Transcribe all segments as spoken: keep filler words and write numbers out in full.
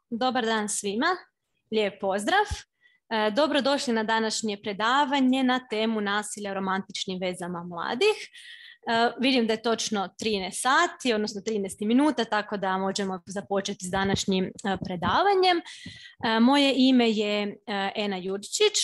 Dobar dan svima, lijep pozdrav. Dobrodošli na današnje predavanje na temu nasilja u romantičnim vezama mladih. Vidim da je točno trinaest sati, odnosno trinaest minuta, tako da možemo započeti s današnjim predavanjem. Moje ime je Ena Jurčić.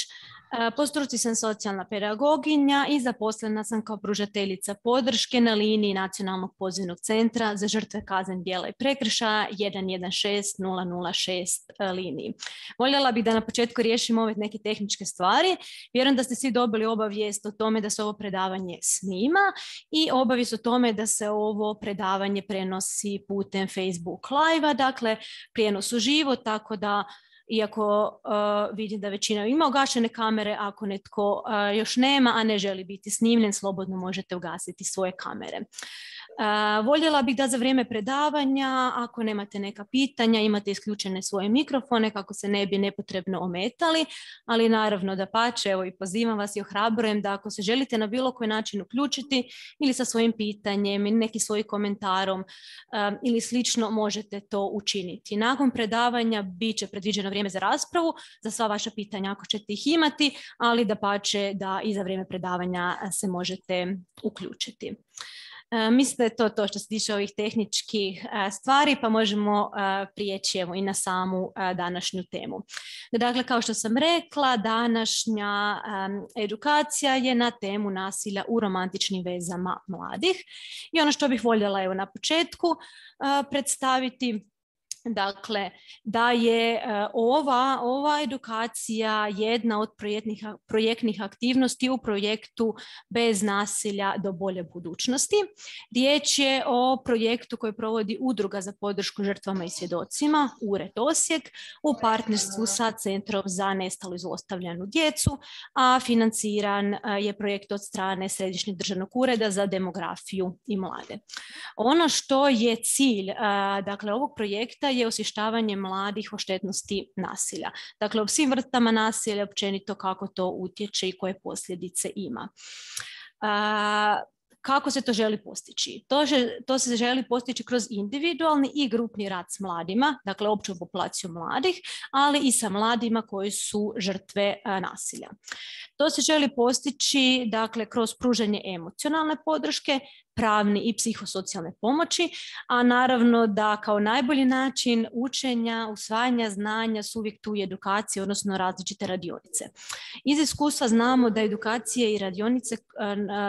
Po struci sam socijalna pedagoginja i zaposlena sam kao pružateljica podrške na liniji Nacionalnog pozivnog centra za žrtve kaznenih djela i prekršaja jedan jedan šest nula nula šest liniji. Voljela bih da na početku riješimo ove neke tehničke stvari. Vjerujem da ste svi dobili obavijest o tome da se ovo predavanje snima i obavijest o tome da se ovo predavanje prenosi putem Facebook live-a, dakle prijenos uživo, tako da iako uh, vidim da većina ima ugašene kamere, ako netko uh, još nema, a ne želi biti snimljen, slobodno možete ugasiti svoje kamere. Uh, voljela bih da za vrijeme predavanja, ako nemate neka pitanja, imate isključene svoje mikrofone kako se ne bi nepotrebno ometali, ali naravno da pače, evo i pozivam vas i ohrabrujem da ako se želite na bilo koji način uključiti ili sa svojim pitanjem ili neki svojim komentarom um, ili slično, možete to učiniti. Nakon predavanja bit će predviđeno vrijeme za raspravu, za sva vaša pitanja ako ćete ih imati, ali da pače da i za vrijeme predavanja se možete uključiti. Uh, mislim da je to to što se tiče ovih tehničkih uh, stvari, pa možemo uh, prijeći evo i na samu uh, današnju temu. Dakle, kao što sam rekla, današnja um, edukacija je na temu nasilja u romantičnim vezama mladih. I ono što bih voljela evo na početku uh, predstaviti, dakle, da je uh, ova, ova edukacija jedna od projektnih, projektnih aktivnosti u projektu Bez nasilja do bolje budućnosti. Riječ je o projektu koji provodi Udruga za podršku žrtvama i svjedocima, Ured Osijek, u partnerstvu sa Centrom za nestalu i zlostavljanu djecu, a financiran uh, je projekt od strane Središnjeg državnog ureda za demografiju i mlade. Ono što je cilj uh, dakle, ovog projekta je osvještavanje mladih o štetnosti nasilja. Dakle, o svim vrstama nasilja, općenito kako to utječe i koje posljedice ima. A, kako se to želi postići? To, že, to se želi postići kroz individualni i grupni rad s mladima, dakle opću populaciju mladih, ali i sa mladima koji su žrtve a, nasilja. To se želi postići dakle, kroz pružanje emocionalne podrške, pravne i psihosocijalne pomoći, a naravno da kao najbolji način učenja, usvajanja znanja su uvijek tu i edukacije, odnosno različite radionice. Iz iskustva znamo da edukacije i radionice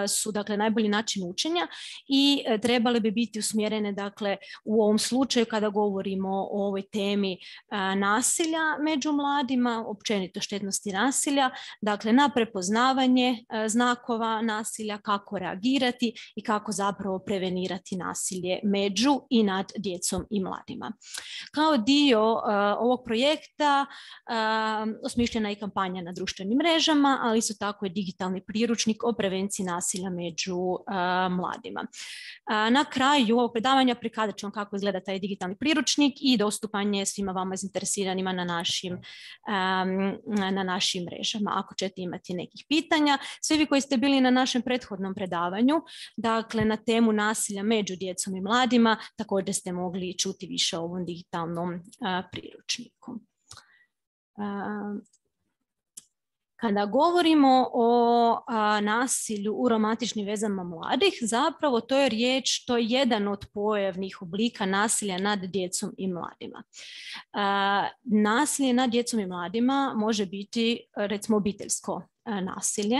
su dakle najbolji način učenja i trebale bi biti usmjerene dakle u ovom slučaju kada govorimo o ovoj temi nasilja među mladima, općenito štetnosti nasilja, dakle na prepoznavanje znakova nasilja, kako reagirati i kako zapravo prevenirati nasilje među i nad djecom i mladima. Kao dio uh, ovog projekta uh, osmišljena je i kampanja na društvenim mrežama, ali isto tako je digitalni priručnik o prevenciji nasilja među uh, mladima. Uh, na kraju ovog predavanja prikazat ću vam kako izgleda taj digitalni priručnik i dostupan je svima vama zainteresiranima na našim, um, na našim mrežama. Ako ćete imati nekih pitanja, svi vi koji ste bili na našem prethodnom predavanju, dakle na temu nasilja među djecom i mladima, također ste mogli čuti više o ovom digitalnom uh, priručniku. Uh, Kada govorimo o a, nasilju u romantičnim vezama mladih, zapravo to je riječ, to je jedan od pojavnih oblika nasilja nad djecom i mladima. A, nasilje nad djecom i mladima može biti, recimo, obiteljsko nasilje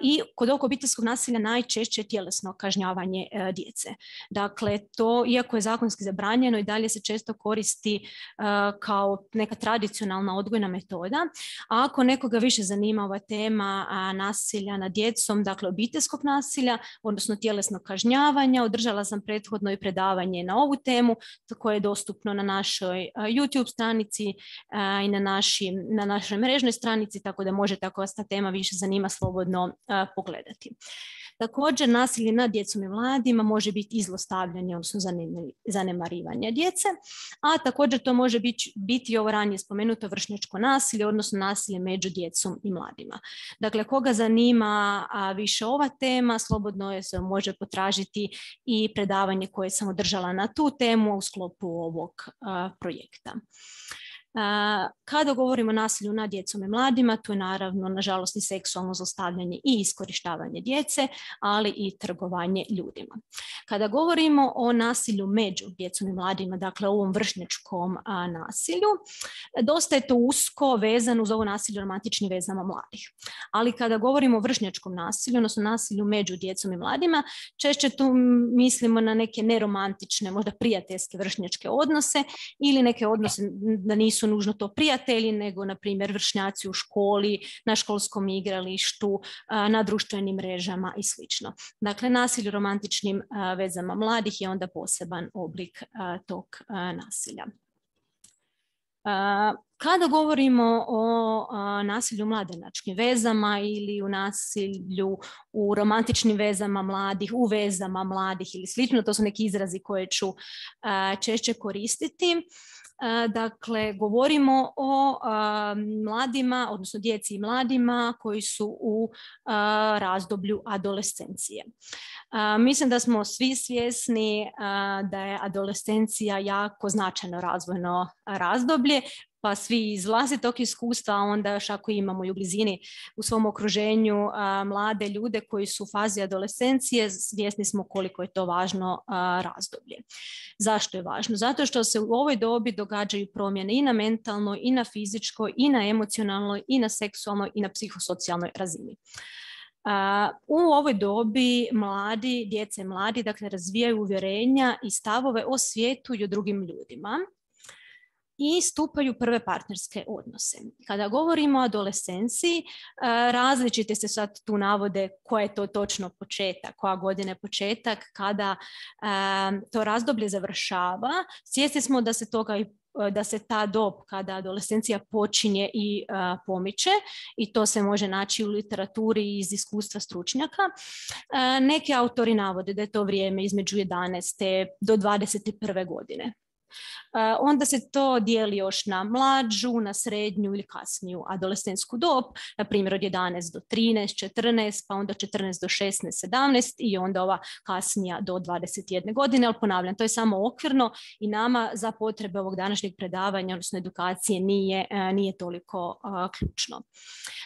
i kod ovog obiteljskog nasilja najčešće tjelesno kažnjavanje djece. Dakle, to, iako je zakonski zabranjeno, i dalje se često koristi kao neka tradicionalna odgojna metoda. A ako nekoga više zanima ova tema nasilja nad djecom, dakle obiteljskog nasilja, odnosno tjelesnog kažnjavanja, održala sam prethodno i predavanje na ovu temu koje je dostupno na našoj YouTube stranici i na, našim, na našoj mrežnoj stranici, tako da možete, ako vas ta tema više zanima, slobodno a, pogledati. Također, nasilje nad djecom i mladima može biti i zlostavljanje, odnosno zanemarivanje djece, a također to može biti, biti ovo ranije spomenuto vršnjačko nasilje, odnosno nasilje među djecom i mladima. Dakle, koga zanima a, više ova tema, slobodno je se može potražiti i predavanje koje sam održala na tu temu u sklopu ovog a, projekta. Kada govorimo o nasilju nad djecom i mladima, tu je naravno, nažalost, i seksualno zlostavljanje i iskorištavanje djece, ali i trgovanje ljudima. Kada govorimo o nasilju među djecom i mladima, dakle ovom vršnjačkom a, nasilju, dosta je to usko vezano uz ovo nasilje u romantičnim vezama mladih. Ali kada govorimo o vršnjačkom nasilju, odnosno nasilju među djecom i mladima, češće tu mislimo na neke neromantične, možda prijateljske vršnjačke odnose ili neke odnose da nisu nužno to prijatelji, nego na primjer vršnjaci u školi, na školskom igralištu, na društvenim mrežama i slično. Dakle, nasilje u romantičnim vezama mladih je onda poseban oblik tog nasilja. Kada govorimo o nasilju u mladenačkim vezama ili u nasilju u romantičnim vezama mladih, u vezama mladih ili slično, to su neki izrazi koje ću češće koristiti. Dakle, govorimo o a, mladima, odnosno djeci i mladima koji su u a, razdoblju adolescencije. A, mislim da smo svi svjesni a, da je adolescencija jako značajno razvojno razdoblje, pa svi iz vlastitog iskustva, a onda još ako imamo i u blizini u svom okruženju a, mlade ljude koji su u fazi adolescencije, svjesni smo koliko je to važno a, razdoblje. Zašto je važno? Zato što se u ovoj dobi događaju promjene i na mentalnoj, i na fizičkoj, i na emocionalnoj, i na seksualnoj, i na psihosocijalnoj razini. Uh, u ovoj dobi mladi, djece mladi, dakle, razvijaju uvjerenja i stavove o svijetu i o drugim ljudima i stupaju prve partnerske odnose. Kada govorimo o adolescenciji, različite se sad tu navode koja je to točno početak, koja godina je početak, kada to razdoblje završava. Svjesni smo da se toga i da se ta dob kada adolescencija počinje i uh, pomiče i to se može naći u literaturi iz iskustva stručnjaka. Uh, neki autori navode da je to vrijeme između jedanaeste do dvadeset prve godine. Uh, onda se to dijeli još na mlađu, na srednju ili kasniju adolescentsku dob, na primjer od jedanaest do trinaest, četrnaest, pa onda četrnaest do šesnaest, sedamnaest i onda ova kasnija do dvadeset jedne godine, ali ponavljam, to je samo okvirno i nama za potrebe ovog današnjeg predavanja, odnosno edukacije, nije, nije toliko uh, ključno.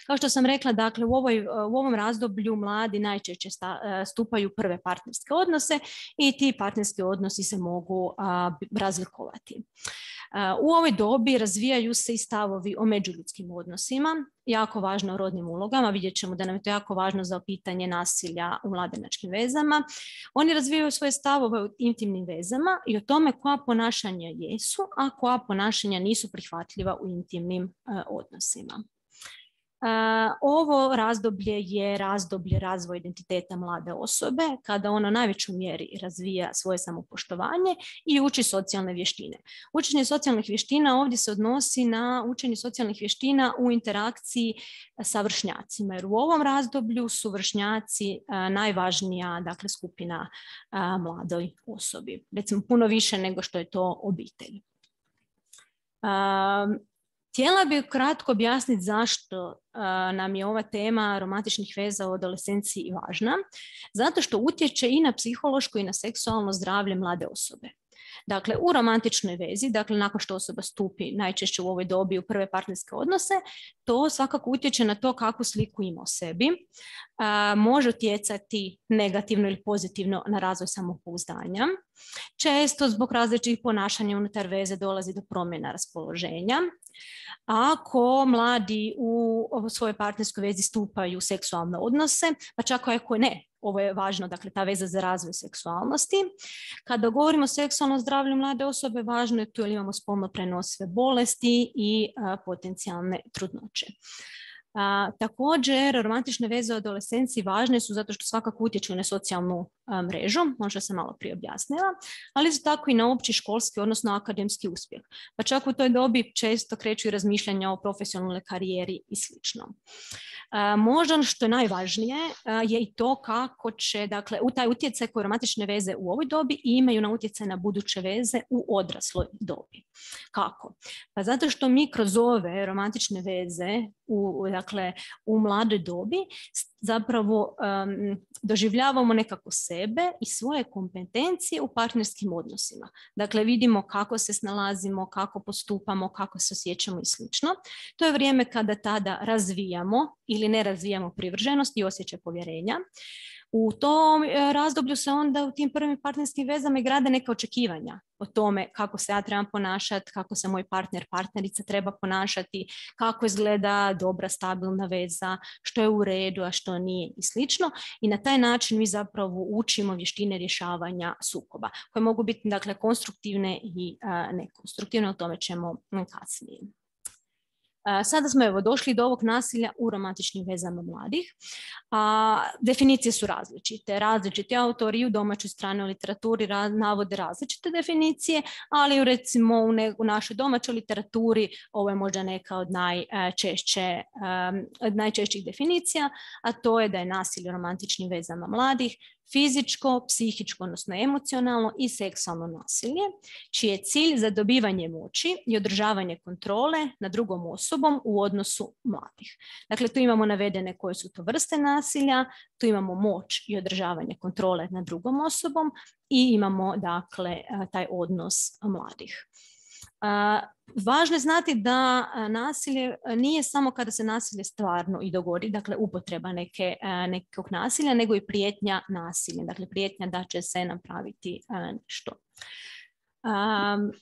Kao što sam rekla, dakle, u, ovoj, u ovom razdoblju mladi najčešće sta, stupaju prve partnerske odnose i ti partnerski odnosi se mogu uh, razlikovati. U ovoj dobi razvijaju se i stavovi o međuljudskim odnosima, jako važno o rodnim ulogama, vidjet ćemo da nam je to jako važno za pitanje nasilja u mladenačkim vezama. Oni razvijaju svoje stavove o intimnim vezama i o tome koja ponašanja jesu, a koja ponašanja nisu prihvatljiva u intimnim uh, odnosima. Uh, ovo razdoblje je razdoblje razvoja identiteta mlade osobe, kada ona u najvećoj mjeri razvija svoje samopoštovanje i uči socijalne vještine. Učenje socijalnih vještina ovdje se odnosi na učenje socijalnih vještina u interakciji sa vršnjacima, jer u ovom razdoblju su vršnjaci uh, najvažnija, dakle, skupina uh, mladoj osobi. Recimo puno više nego što je to obitelj. Uh, Htjela bih kratko objasniti zašto uh, nam je ova tema romantičnih veza u adolescenciji važna. Zato što utječe i na psihološko i na seksualno zdravlje mlade osobe. Dakle, u romantičnoj vezi, dakle, nakon što osoba stupi najčešće u ovoj dobi u prve partnerske odnose, to svakako utječe na to kakvu sliku ima o sebi. A, može utjecati negativno ili pozitivno na razvoj samopouzdanja. Često zbog različitih ponašanja unutar veze dolazi do promjena raspoloženja. Ako mladi u svojoj partnerskoj vezi stupaju u seksualne odnose, pa čak ako ne, ovo je važno, dakle, ta veza za razvoj seksualnosti. Kada govorimo o seksualnom zdravlju mlade osobe, važno je tu jer imamo spolno prenosive bolesti i a, potencijalne trudnoće. A, također, romantične veze u adolescenciji važne su zato što svakako utječu na socijalnu a, mrežu, možda sam malo prije objasnila, ali isto tako i na opći školski, odnosno akademski uspjeh. Pa čak u toj dobi često kreću i razmišljanja o profesionalnoj karijeri i slično. Možda ono što je najvažnije je i to kako će, dakle, u taj utjecaj koje romantične veze u ovoj dobi imaju na utjecaj na buduće veze u odrasloj dobi. Kako? Pa zato što mi kroz ove romantične veze u, dakle, u mladoj dobi zapravo um, doživljavamo nekako sebe i svoje kompetencije u partnerskim odnosima. Dakle, vidimo kako se snalazimo, kako postupamo, kako se osjećamo i slično. To je vrijeme kada tada razvijamo ili ne razvijamo privrženost i osjećaj povjerenja. U tom razdoblju se onda u tim prvim partnerskim vezama i grade neka očekivanja o tome kako se ja trebam ponašati, kako se moj partner, partnerica treba ponašati, kako izgleda dobra, stabilna veza, što je u redu, a što nije i slično. I na taj način mi zapravo učimo vještine rješavanja sukoba, koje mogu biti, dakle, konstruktivne i a, nekonstruktivne, o tome ćemo kasnije. Sada smo evo došli do ovog nasilja u romantičnim vezama mladih. A, definicije su različite. Različiti autori u domaćoj stranoj literaturi ra, navode različite definicije, ali recimo u, ne, u našoj domaćoj literaturi ovo je možda neka od najčešće, um, od najčešćih definicija, a to je da je nasilje u romantičnim vezama mladih fizičko, psihičko, odnosno emocionalno i seksualno nasilje, čiji je cilj zadobivanje moći i održavanje kontrole nad drugom osobom u odnosu mladih. Dakle, tu imamo navedene koje su to vrste nasilja, tu imamo moć i održavanje kontrole nad drugom osobom i imamo, dakle, taj odnos mladih. Uh, važno je znati da nasilje nije samo kada se nasilje stvarno i dogodi, dakle upotreba neke, nekog nasilja, nego i prijetnja nasilja, dakle prijetnja da će se napraviti nešto. Um,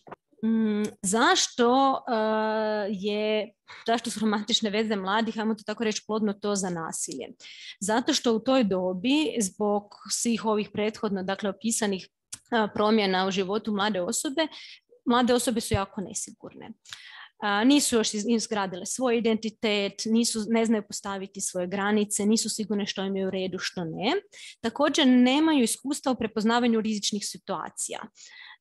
Mm, zašto uh, je, zašto su romantične veze mladih, ajmo to tako reći, plodno to za nasilje? Zato što u toj dobi, zbog svih ovih prethodno, dakle, opisanih uh, promjena u životu mlade osobe, mlade osobe su jako nesigurne. Uh, nisu još izgradile svoj identitet, nisu, ne znaju postaviti svoje granice, nisu sigurne što im je u redu, što ne. Također nemaju iskustva u prepoznavanju rizičnih situacija.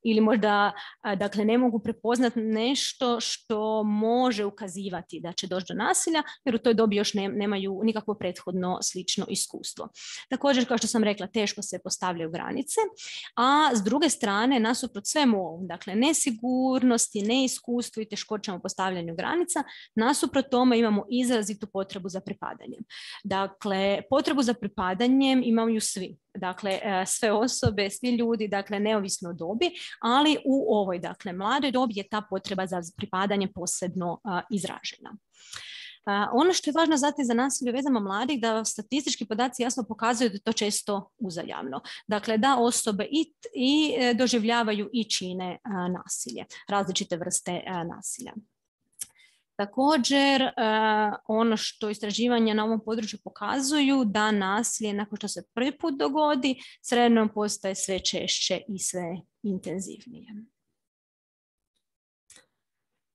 Ili možda, dakle, ne mogu prepoznati nešto što može ukazivati da će doći do nasilja, jer u toj dobi još ne, nemaju nikakvo prethodno slično iskustvo. Također, kao što sam rekla, teško se postavljaju granice, a s druge strane, nasuprot svemu ovom, dakle, nesigurnosti, neiskustvu i teškoćama u postavljanju granica, nasuprot tome imamo izrazitu potrebu za pripadanjem. Dakle, potrebu za pripadanjem imaju svi. Dakle, sve osobe, svi ljudi, dakle, neovisno o dobi, ali u ovoj, dakle, mladoj dobi je ta potreba za pripadanje posebno uh, izražena. Uh, ono što je važno znati za nasilje u vezama mladih, da statistički podaci jasno pokazuju da je to često uzajamno. Dakle, da osobe i, i doživljavaju i čine uh, nasilje, različite vrste uh, nasilja. Također, ono što istraživanja na ovom području pokazuju, da nasilje nakon što se prvi put dogodi, s vremenom postaje sve češće i sve intenzivnije.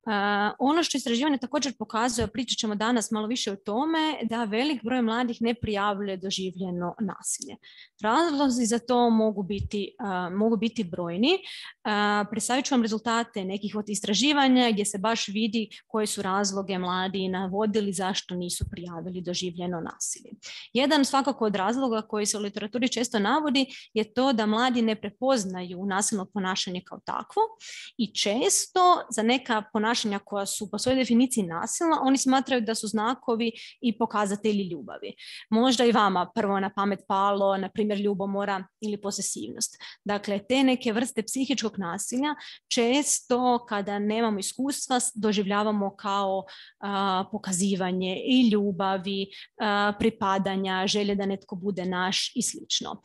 Uh, ono što istraživanje također pokazuje, pričat ćemo danas malo više o tome, da velik broj mladih ne prijavljuje doživljeno nasilje. Razlozi za to mogu biti, uh, mogu biti brojni. Uh, predstavit ću vam rezultate nekih od istraživanja gdje se baš vidi koje su razloge mladi navodili zašto nisu prijavili doživljeno nasilje. Jedan svakako od razloga koji se u literaturi često navodi je to da mladi ne prepoznaju nasilno ponašanje kao takvo i često za neka ponašanja koja su po svojoj definiciji nasilna, oni smatraju da su znakovi i pokazatelji ljubavi. Možda i vama prvo na pamet palo, na primjer, ljubomora ili posesivnost. Dakle, te neke vrste psihičkog nasilja često kada nemamo iskustva doživljavamo kao a, pokazivanje i ljubavi, a, pripadanja, želje da netko bude naš i slično.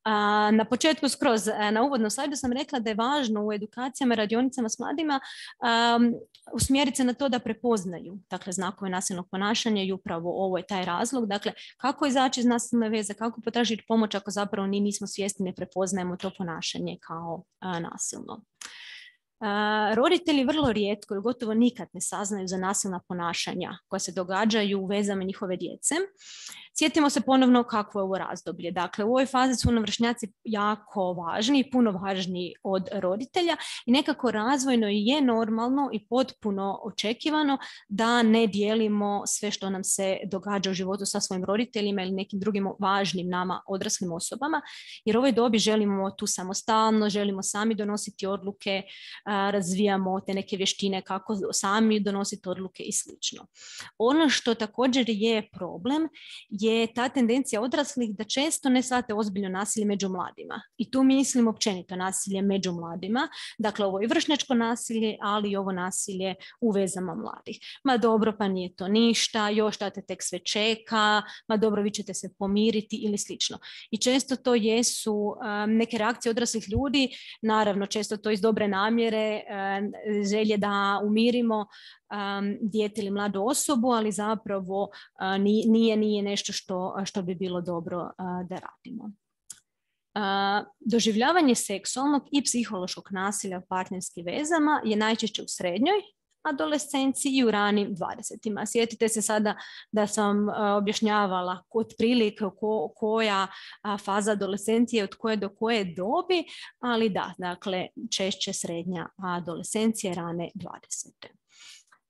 A, na početku skroz na uvodnom slajdu sam rekla da je važno u edukacijama, radionicama s mladima um, usmjeriti se na to da prepoznaju, dakle, znakove nasilnog ponašanja i upravo ovo je taj razlog. Dakle, kako izaći iz nasilne veze, kako potražiti pomoć ako zapravo ni nismo svjesni, ne prepoznajemo to ponašanje kao a, nasilno. Uh, roditelji vrlo rijetko ili gotovo nikad ne saznaju za nasilna ponašanja koja se događaju u vezama njihove djece. Sjetimo se ponovno kakvo je ovo razdoblje. Dakle, u ovoj fazi su nam vršnjaci jako važni, puno važniji od roditelja i nekako razvojno je normalno i potpuno očekivano da ne dijelimo sve što nam se događa u životu sa svojim roditeljima ili nekim drugim važnim nama odraslim osobama, jer u ovoj dobi želimo tu samostalno, želimo sami donositi odluke, razvijamo te neke vještine kako sami donositi odluke i slično. Ono što također je problem je ta tendencija odraslih da često ne shvate ozbiljno nasilje među mladima. I tu mislim općenito nasilje među mladima. Dakle, ovo je vršnjačko nasilje, ali i ovo nasilje u vezama mladih. Ma dobro, pa nije to ništa, još šta te tek sve čeka, ma dobro, vi ćete se pomiriti ili slično. I često to jesu um, neke reakcije odraslih ljudi, naravno često to iz dobre namjere, um, želje da umirimo um, dijete ili mladu osobu, ali zapravo uh, nije, nije nešto što, što bi bilo dobro uh, da radimo. Uh, doživljavanje seksualnog i psihološkog nasilja u partnerskim vezama je najčešće u srednjoj adolescenciji i u ranim dvadesetima. Sjetite se sada da sam uh, objašnjavala otprilike ko, koja uh, faza adolescencije od koje do koje dobi, ali da, dakle, češće srednja adolescencija, rane dvadesete.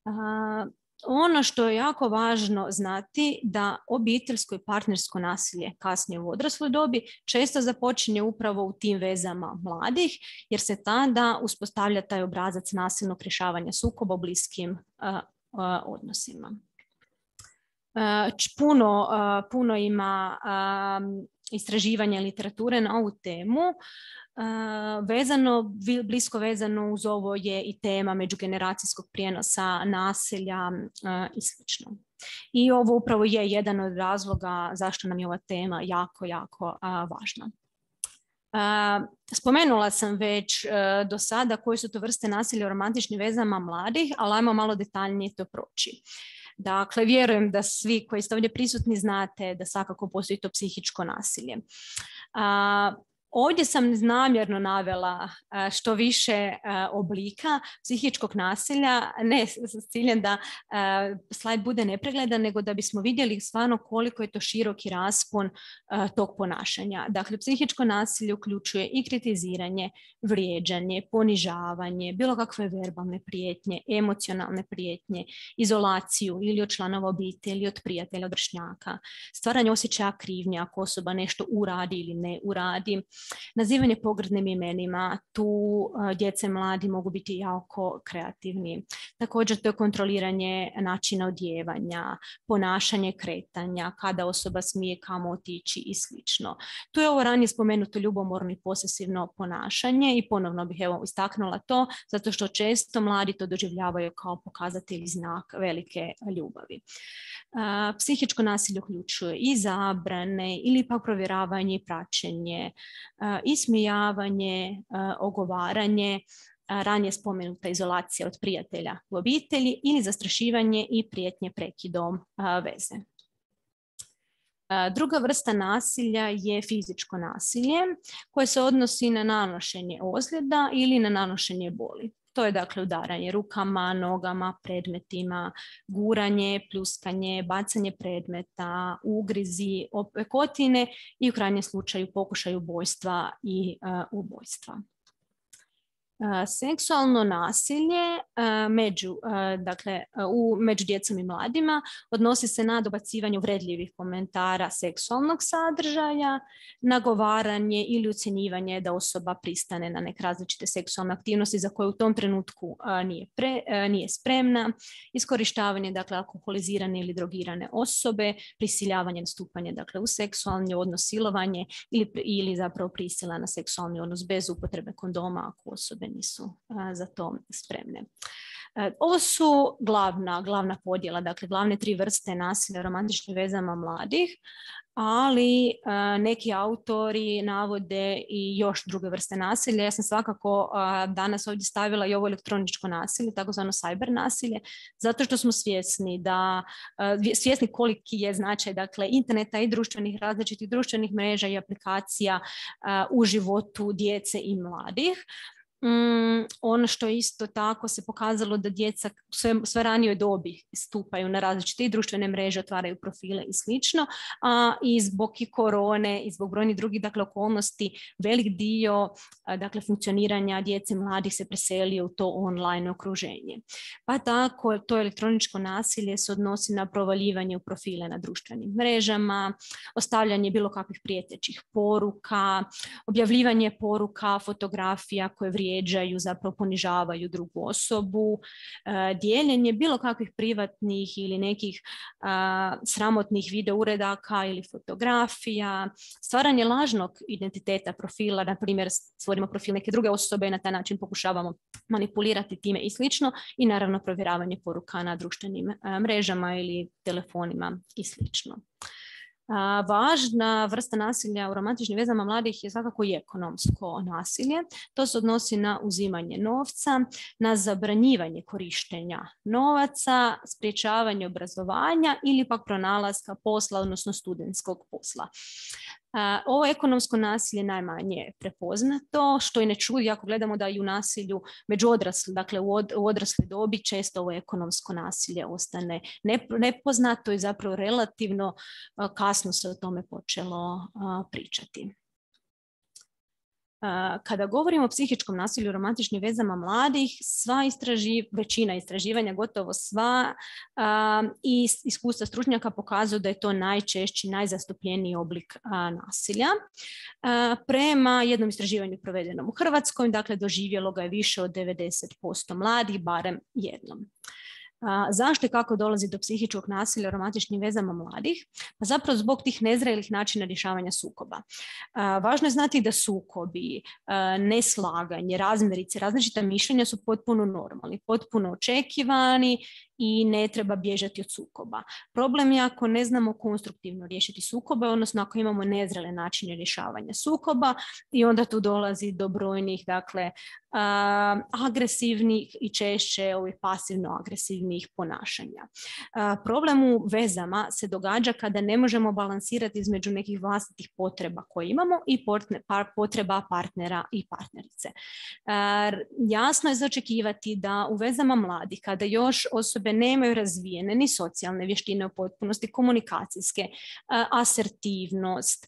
Uh, Ono što je jako važno znati da obiteljsko i partnersko nasilje kasnije u odrasloj dobi često započinje upravo u tim vezama mladih, jer se tada uspostavlja taj obrazac nasilnog rješavanja sukoba u bliskim uh, uh, odnosima. Uh, puno, uh, puno ima um, istraživanja literature na ovu temu. Uh, vezano, blisko vezano uz ovo je i tema međugeneracijskog prijenosa nasilja uh, i slično. I ovo upravo je jedan od razloga zašto nam je ova tema jako, jako uh, važna. Uh, spomenula sam već uh, do sada koje su to vrste nasilja u romantičnim vezama mladih, ali ajmo malo detaljnije to proći. Dakle, vjerujem da svi koji ste ovdje prisutni znate da svakako postoji to psihičko nasilje. Uh, Ovdje sam namjerno navela što više oblika psihičkog nasilja, ne s ciljem da slajd bude nepregledan, nego da bismo vidjeli stvarno koliko je to široki raspon tog ponašanja. Dakle, psihičko nasilje uključuje i kritiziranje, vrijeđanje, ponižavanje, bilo kakve verbalne prijetnje, emocionalne prijetnje, izolaciju ili od članova obitelji, ili od prijatelja, od vršnjaka, stvaranje osjećaja krivnje ako osoba nešto uradi ili ne uradi, nazivanje pogrdnim imenima, tu uh, djece mladi mogu biti jako kreativni. Također to je kontroliranje načina odjevanja, ponašanje kretanja, kada osoba smije kamo otići i slično. Tu je ovo ranije spomenuto ljubomorno i posesivno ponašanje i ponovno bih evo istaknula to zato što često mladi to doživljavaju kao pokazatelj znak velike ljubavi. Uh, psihičko nasilje uključuje i zabrane ili pak provjeravanje i praćenje, uh, ismijavanje, uh, ogovaranje, uh, ranije spomenuta izolacija od prijatelja u obitelji ili zastrašivanje i prijetnje prekidom uh, veze. Uh, druga vrsta nasilja je fizičko nasilje koje se odnosi na nanošenje ozljeda ili na nanošenje boli. To je dakle udaranje rukama, nogama, predmetima, guranje, pljuskanje, bacanje predmeta, ugrizi, opekotine i u krajnjem slučaju pokušaj ubojstva i uh, ubojstva. Uh, seksualno nasilje uh, među, uh, dakle, uh, u, među djecom i mladima odnosi se na dobacivanje uvredljivih komentara seksualnog sadržaja, nagovaranje ili ucjenjivanje da osoba pristane na neke različite seksualne aktivnosti za koje u tom trenutku uh, nije, pre, uh, nije spremna, iskorištavanje dakle, alkoholizirane ili drogirane osobe, prisiljavanje na stupanje dakle, u seksualni odnos, silovanje ili, ili zapravo prisila na seksualni odnos bez upotrebe kondoma ako osobe nisu a, za to spremne. E, ovo su glavna, glavna podjela, dakle glavne tri vrste nasilja u romantičnim vezama mladih, ali a, neki autori navode i još druge vrste nasilja. Ja sam svakako a, danas ovdje stavila i ovo elektroničko nasilje, takozvano cyber nasilje, zato što smo svjesni da a, svjesni koliki je značaj dakle interneta i društvenih različitih društvenih mreža i aplikacija a, u životu djece i mladih. Mm, ono što isto tako se pokazalo da djeca sve, sve ranijoj dobi stupaju na različite društvene mreže, otvaraju profile i slično, a i zbog i korone i zbog brojnih drugih dakle, okolnosti velik dio dakle, funkcioniranja djece mladih se preselio u to online okruženje. Pa tako to elektroničko nasilje se odnosi na provaljivanje u profile na društvenim mrežama, ostavljanje bilo kakvih prijetećih poruka, objavljivanje poruka, fotografija koje vrijeđaju, zapravo ponižavaju drugu osobu, dijeljenje bilo kakvih privatnih ili nekih a, sramotnih video uredaka ili fotografija, stvaranje lažnog identiteta profila, na primjer stvorimo profil neke druge osobe i na taj način pokušavamo manipulirati time i slično, i naravno provjeravanje poruka na društvenim a, mrežama ili telefonima i slično. A, važna vrsta nasilja u romantičnim vezama mladih je svakako i ekonomsko nasilje. To se odnosi na uzimanje novca, na zabranjivanje korištenja novaca, sprječavanje obrazovanja ili pak pronalaska posla, odnosno studentskog posla. Ovo ekonomsko nasilje najmanje je prepoznato, što i ne čudi ako gledamo da i u nasilju među odrasli, dakle u, od, u odrasle dobi često ovo ekonomsko nasilje ostane nepoznato i zapravo relativno kasno se o tome počelo pričati. Kada govorimo o psihičkom nasilju u romantičnim vezama mladih, sva istraži, većina istraživanja, gotovo sva, a, i iskustva stručnjaka pokazuju da je to najčešći, najzastupljeniji oblik a, nasilja. A, prema jednom istraživanju provedenom u Hrvatskoj, dakle doživjelo ga je više od devedeset posto mladih, barem jednom. A, zašto i kako dolazi do psihičkog nasilja u romantičnim vezama mladih? Pa zapravo zbog tih nezrelih načina rješavanja sukoba. A, važno je znati da sukobi, a, neslaganje, razmirice, različita mišljenja su potpuno normalni, potpuno očekivani i ne treba bježati od sukoba. Problem je ako ne znamo konstruktivno riješiti sukobe, odnosno ako imamo nezrele načine rješavanja sukoba, i onda tu dolazi do brojnih, dakle, a, agresivnih i češće ovih pasivno-agresivnih ponašanja. A, problem u vezama se događa kada ne možemo balansirati između nekih vlastitih potreba koje imamo i potreba partnera i partnerice. A, jasno je za očekivati da u vezama mladih, kada još osobe nemaju razvijene ni socijalne vještine u potpunosti, komunikacijske, asertivnost,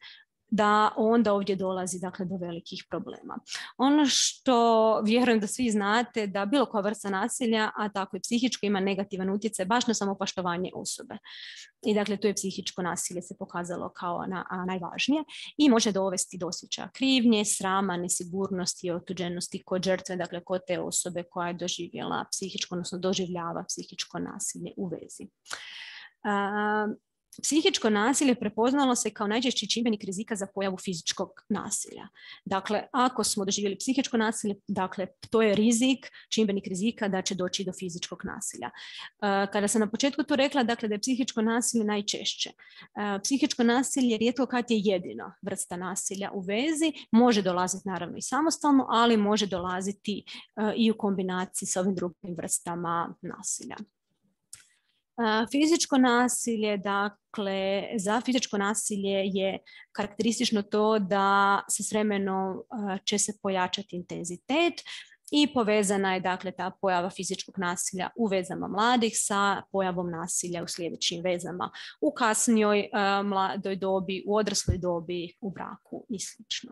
da onda ovdje dolazi dakle, do velikih problema. Ono što vjerujem da svi znate, da bilo koja vrsta nasilja, a tako i psihičko, ima negativan utjecaj baš na samopoštovanje osobe. I dakle, tu je psihičko nasilje se pokazalo kao na, a, najvažnije i može dovesti do osjećaja krivnje, srama, nesigurnosti i otuđenosti kod žrtve, dakle kod te osobe koja je doživjela psihičko, odnosno doživljava psihičko nasilje u vezi. A, Psihičko nasilje prepoznalo se kao najčešći čimbenik rizika za pojavu fizičkog nasilja. Dakle, ako smo doživjeli psihičko nasilje, dakle, to je rizik, čimbenik rizika da će doći do fizičkog nasilja. Kada sam na početku to rekla, dakle, da je psihičko nasilje najčešće. Psihičko nasilje rijetko kad je jedina vrsta nasilja u vezi, može dolaziti naravno i samostalno, ali može dolaziti i u kombinaciji s ovim drugim vrstama nasilja. Fizičko nasilje, dakle, za fizičko nasilje je karakteristično to da se s vremenom će se pojačati intenzitet i povezana je, dakle, ta pojava fizičkog nasilja u vezama mladih sa pojavom nasilja u sljedećim vezama, u kasnijoj mladoj dobi, u odrasloj dobi, u braku i slično.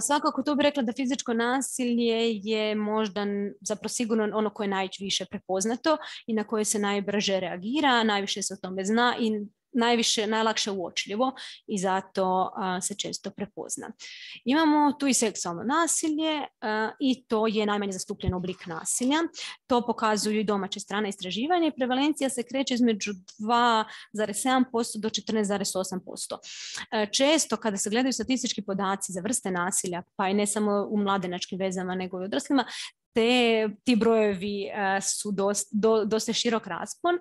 Svakako tu bih rekla da fizičko nasilje je možda zapravo sigurno ono koje je najviše prepoznato i na koje se najbrže reagira, najviše se o tome zna i najviše, najlakše uočljivo i zato a, se često prepozna. Imamo tu i seksualno nasilje a, i to je najmanje zastupljen oblik nasilja. To pokazuju i domaće strane istraživanja i prevalencija se kreće između dva zarez sedam posto do četrnaest zarez osam posto. Često kada se gledaju statistički podaci za vrste nasilja, pa i ne samo u mladenačkim vezama nego i odraslima, te, ti brojevi a, su dosta, do, dosta širok raspon.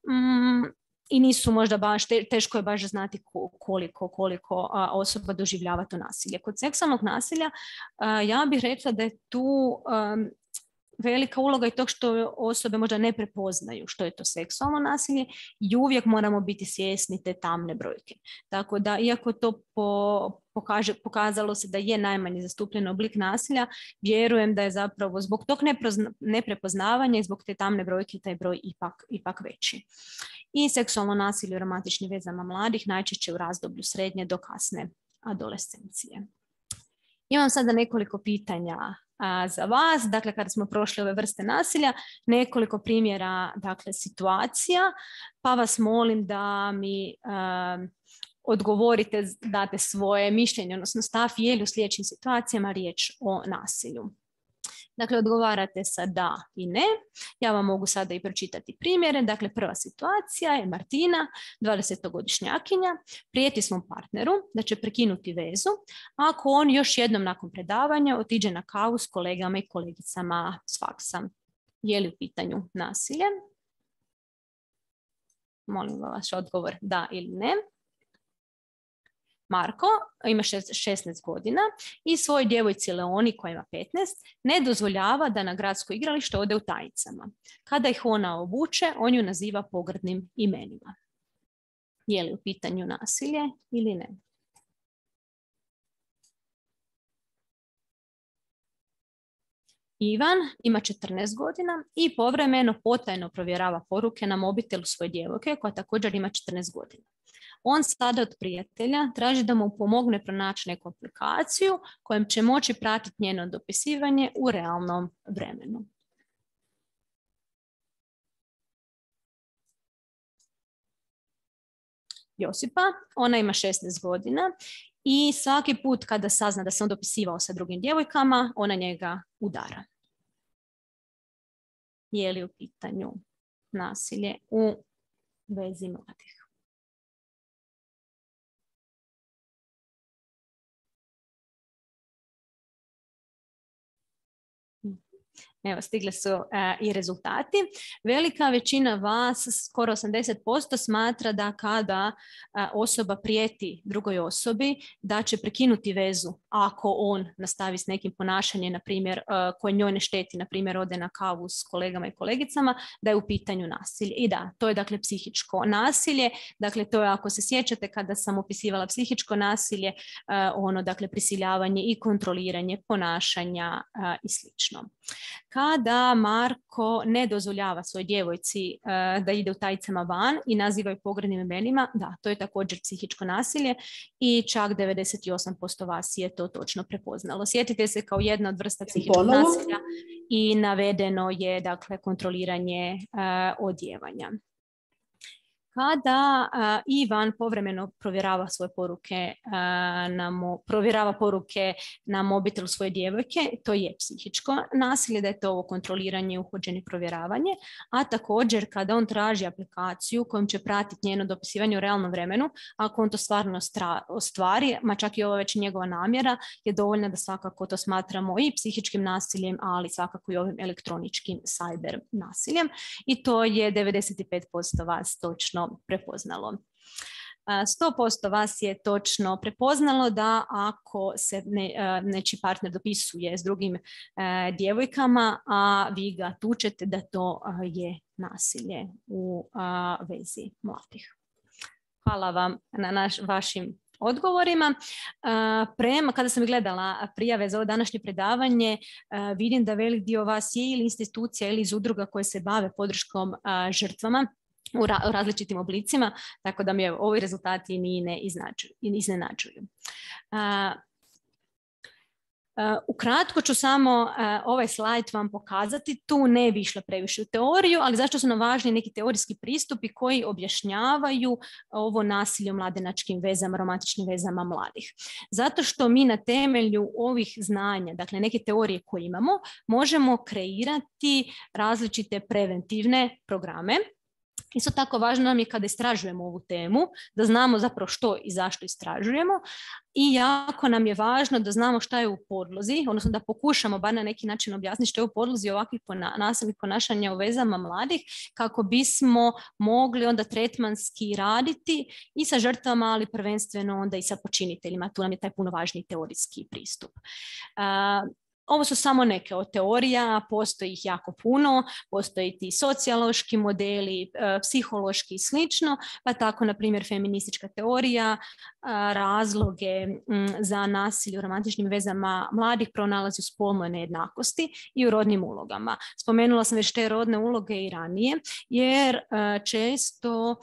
Mm, I nisu možda baš, teško je baš znati koliko, koliko osoba doživljava to nasilje. Kod seksualnog nasilja ja bih rekla da je tu velika uloga i tog što osobe možda ne prepoznaju što je to seksualno nasilje i uvijek moramo biti svjesni te tamne brojke. Tako da, iako to po, pokaže, pokazalo se da je najmanje zastupljen oblik nasilja, vjerujem da je zapravo zbog tog neprepoznavanja i zbog te tamne brojke taj broj ipak, ipak veći. I seksualno nasilje u romantičnim vezama mladih najčešće u razdoblju srednje do kasne adolescencije. Imam sada nekoliko pitanja a, za vas. Dakle, kada smo prošli ove vrste nasilja, nekoliko primjera, dakle, situacija, pa vas molim da mi a, odgovorite, date svoje mišljenje, odnosno stav, je li u sljedećim situacijama riječ o nasilju. Dakle, odgovarate sa da i ne. Ja vam mogu sada i pročitati primjere. Dakle, prva situacija je Martina, dvadesetogodišnjakinja, prijeti svom partneru da će prekinuti vezu ako on još jednom nakon predavanja otiđe na kavu s kolegama i kolegicama s faksa. Je li u pitanju nasilje? Molim vaš odgovor da ili ne. Marko ima šesnaest godina i svojoj djevojci Leoni koja ima petnaest ne dozvoljava da na gradsko igralište ode u tajicama. Kada ih ona obuče, on ju naziva pogrdnim imenima. Je li u pitanju nasilje ili ne? Ivan ima četrnaest godina i povremeno potajno provjerava poruke na mobitelu svoje djevojke koja također ima četrnaest godina. On sada od prijatelja traži da mu pomogne pronaći neku aplikaciju kojom će moći pratiti njeno dopisivanje u realnom vremenu. Josipa, ona ima šesnaest godina i svaki put kada sazna da se on dopisivao sa drugim djevojkama, ona njega udara. Je li u pitanju nasilje u vezi mladih? Evo, stigli su uh, i rezultati. Velika većina vas, skoro osamdeset posto, smatra da kada uh, osoba prijeti drugoj osobi da će prekinuti vezu ako on nastavi s nekim ponašanjem, na primjer, uh, koje njoj ne šteti, na primjer, ode na kavu s kolegama i kolegicama, da je u pitanju nasilje. I da, to je dakle psihičko nasilje. Dakle, to je, ako se sjećate, kada sam opisivala psihičko nasilje, uh, ono, dakle, prisiljavanje i kontroliranje ponašanja uh, i slično. Kada Marko ne dozvoljava svojoj djevojci uh, da ide u tajicama van i naziva ju pogrdnim imenima, da, to je također psihičko nasilje i čak devedeset osam posto vas je to točno prepoznalo. Sjetite se kao jedna od vrsta psihičkog Ponovo. nasilja i navedeno je, dakle, kontroliranje uh, odjevanja. Kada uh, Ivan povremeno provjerava svoje poruke, uh, na mo- provjerava poruke na mobitelu svoje djevojke, to je psihičko nasilje, da je to ovo kontroliranje, uhođenje, provjeravanje, a također kada on traži aplikaciju kojom će pratiti njeno dopisivanje u realnom vremenu, ako on to stvarno stra- ostvari, ma čak i ovo već njegova namjera, je dovoljna da svakako to smatramo i psihičkim nasiljem, ali svakako i ovim elektroničkim cyber nasiljem, i to je devedeset pet posto vas točno prepoznalo. sto posto vas je točno prepoznalo da ako se ne, nečiji partner dopisuje s drugim djevojkama, a vi ga tučete, da to je nasilje u vezi mladih. Hvala vam na naš, vašim odgovorima. Prema, kada sam gledala prijave za ovo današnje predavanje, vidim da velik dio vas je ili institucija ili iz udruga koje se bave podrškom žrtvama u različitim oblicima, tako da mi ovi rezultati ni ne iznenađuju. Uh, uh, ukratko ću samo uh, ovaj slajd vam pokazati. Tu ne bi išla previše u teoriju, ali zašto su nam važni neki teorijski pristupi koji objašnjavaju ovo nasilje u mladenačkim vezama, romantičnim vezama mladih. Zato što mi na temelju ovih znanja, dakle neke teorije koje imamo, možemo kreirati različite preventivne programe. Isto tako važno nam je kada istražujemo ovu temu, da znamo zapravo što i zašto istražujemo, i jako nam je važno da znamo šta je u podlozi, odnosno da pokušamo bar na neki način objasniti što je u podlozi ovakvih pona- nasilnih ponašanja u vezama mladih, kako bismo mogli onda tretmanski raditi i sa žrtvama, ali prvenstveno onda i sa počiniteljima. Tu nam je taj puno važniji teorijski pristup. Uh, Ovo su samo neke od teorija, postoji ih jako puno, postoji ti sociološki modeli, psihološki i slično, pa tako, na primjer, feministička teorija razloge za nasilje u romantičnim vezama mladih pronalazi u spolnoj nejednakosti i u rodnim ulogama. Spomenula sam već te rodne uloge i ranije, jer često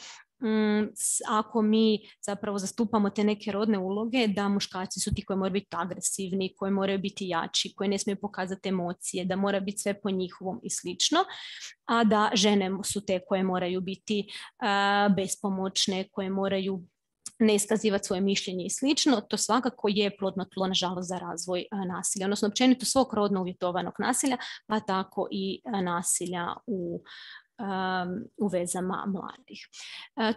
ako mi zapravo zastupamo te neke rodne uloge, da muškarci su ti koji moraju biti agresivni, koji moraju biti jači, koji ne smiju pokazati emocije, da mora biti sve po njihovom i slično, a da žene su te koje moraju biti uh, bespomoćne, koje moraju ne iskazivati svoje mišljenje i slično. To svakako je plodno tlo, nažalost, za razvoj uh, nasilja, odnosno općenito svog rodno uvjetovanog nasilja, pa tako i uh, nasilja u u vezama mladih.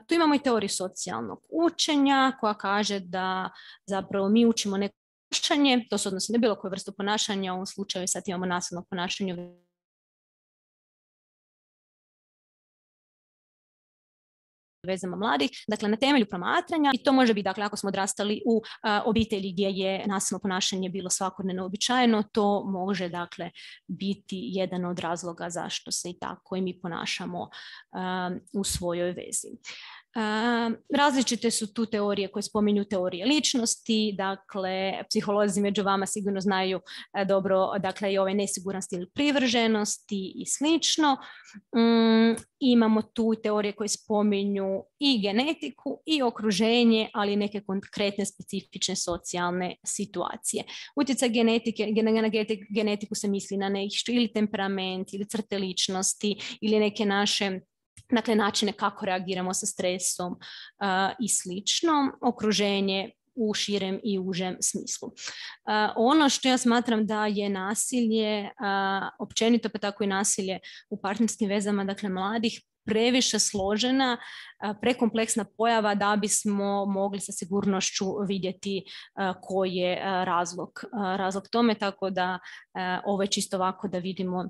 Tu imamo i teoriju socijalnog učenja koja kaže da zapravo mi učimo neko ponašanje, to se odnosi na bilo koju vrstu ponašanja, u ovom slučaju sad imamo nasilno ponašanje vezama mladih, dakle na temelju promatranja, i to može biti, dakle, ako smo odrastali u uh, obitelji gdje je nasilno ponašanje bilo svakodnevno uobičajeno, to može, dakle, biti jedan od razloga zašto se i tako i mi ponašamo uh, u svojoj vezi. Uh, različite su tu teorije koje spominju teorije ličnosti, dakle psiholozi među vama sigurno znaju uh, dobro, dakle i ovaj nesiguran stil privrženosti i slično. Um, imamo tu teorije koje spominju i genetiku i okruženje, ali i neke konkretne specifične socijalne situacije. Utjecaj genetike, na genetiku se misli na nešto ili temperament ili crte ličnosti ili neke naše, dakle, načine kako reagiramo sa stresom uh, i slično, okruženje u širem i užem smislu. Uh, ono što ja smatram da je nasilje, uh, općenito pa tako i nasilje u partnerskim vezama, dakle mladih, previše složena, uh, prekompleksna pojava da bismo mogli sa sigurnošću vidjeti uh, koji je uh, razlog, uh, razlog tome, tako da uh, ovo je čisto ovako da vidimo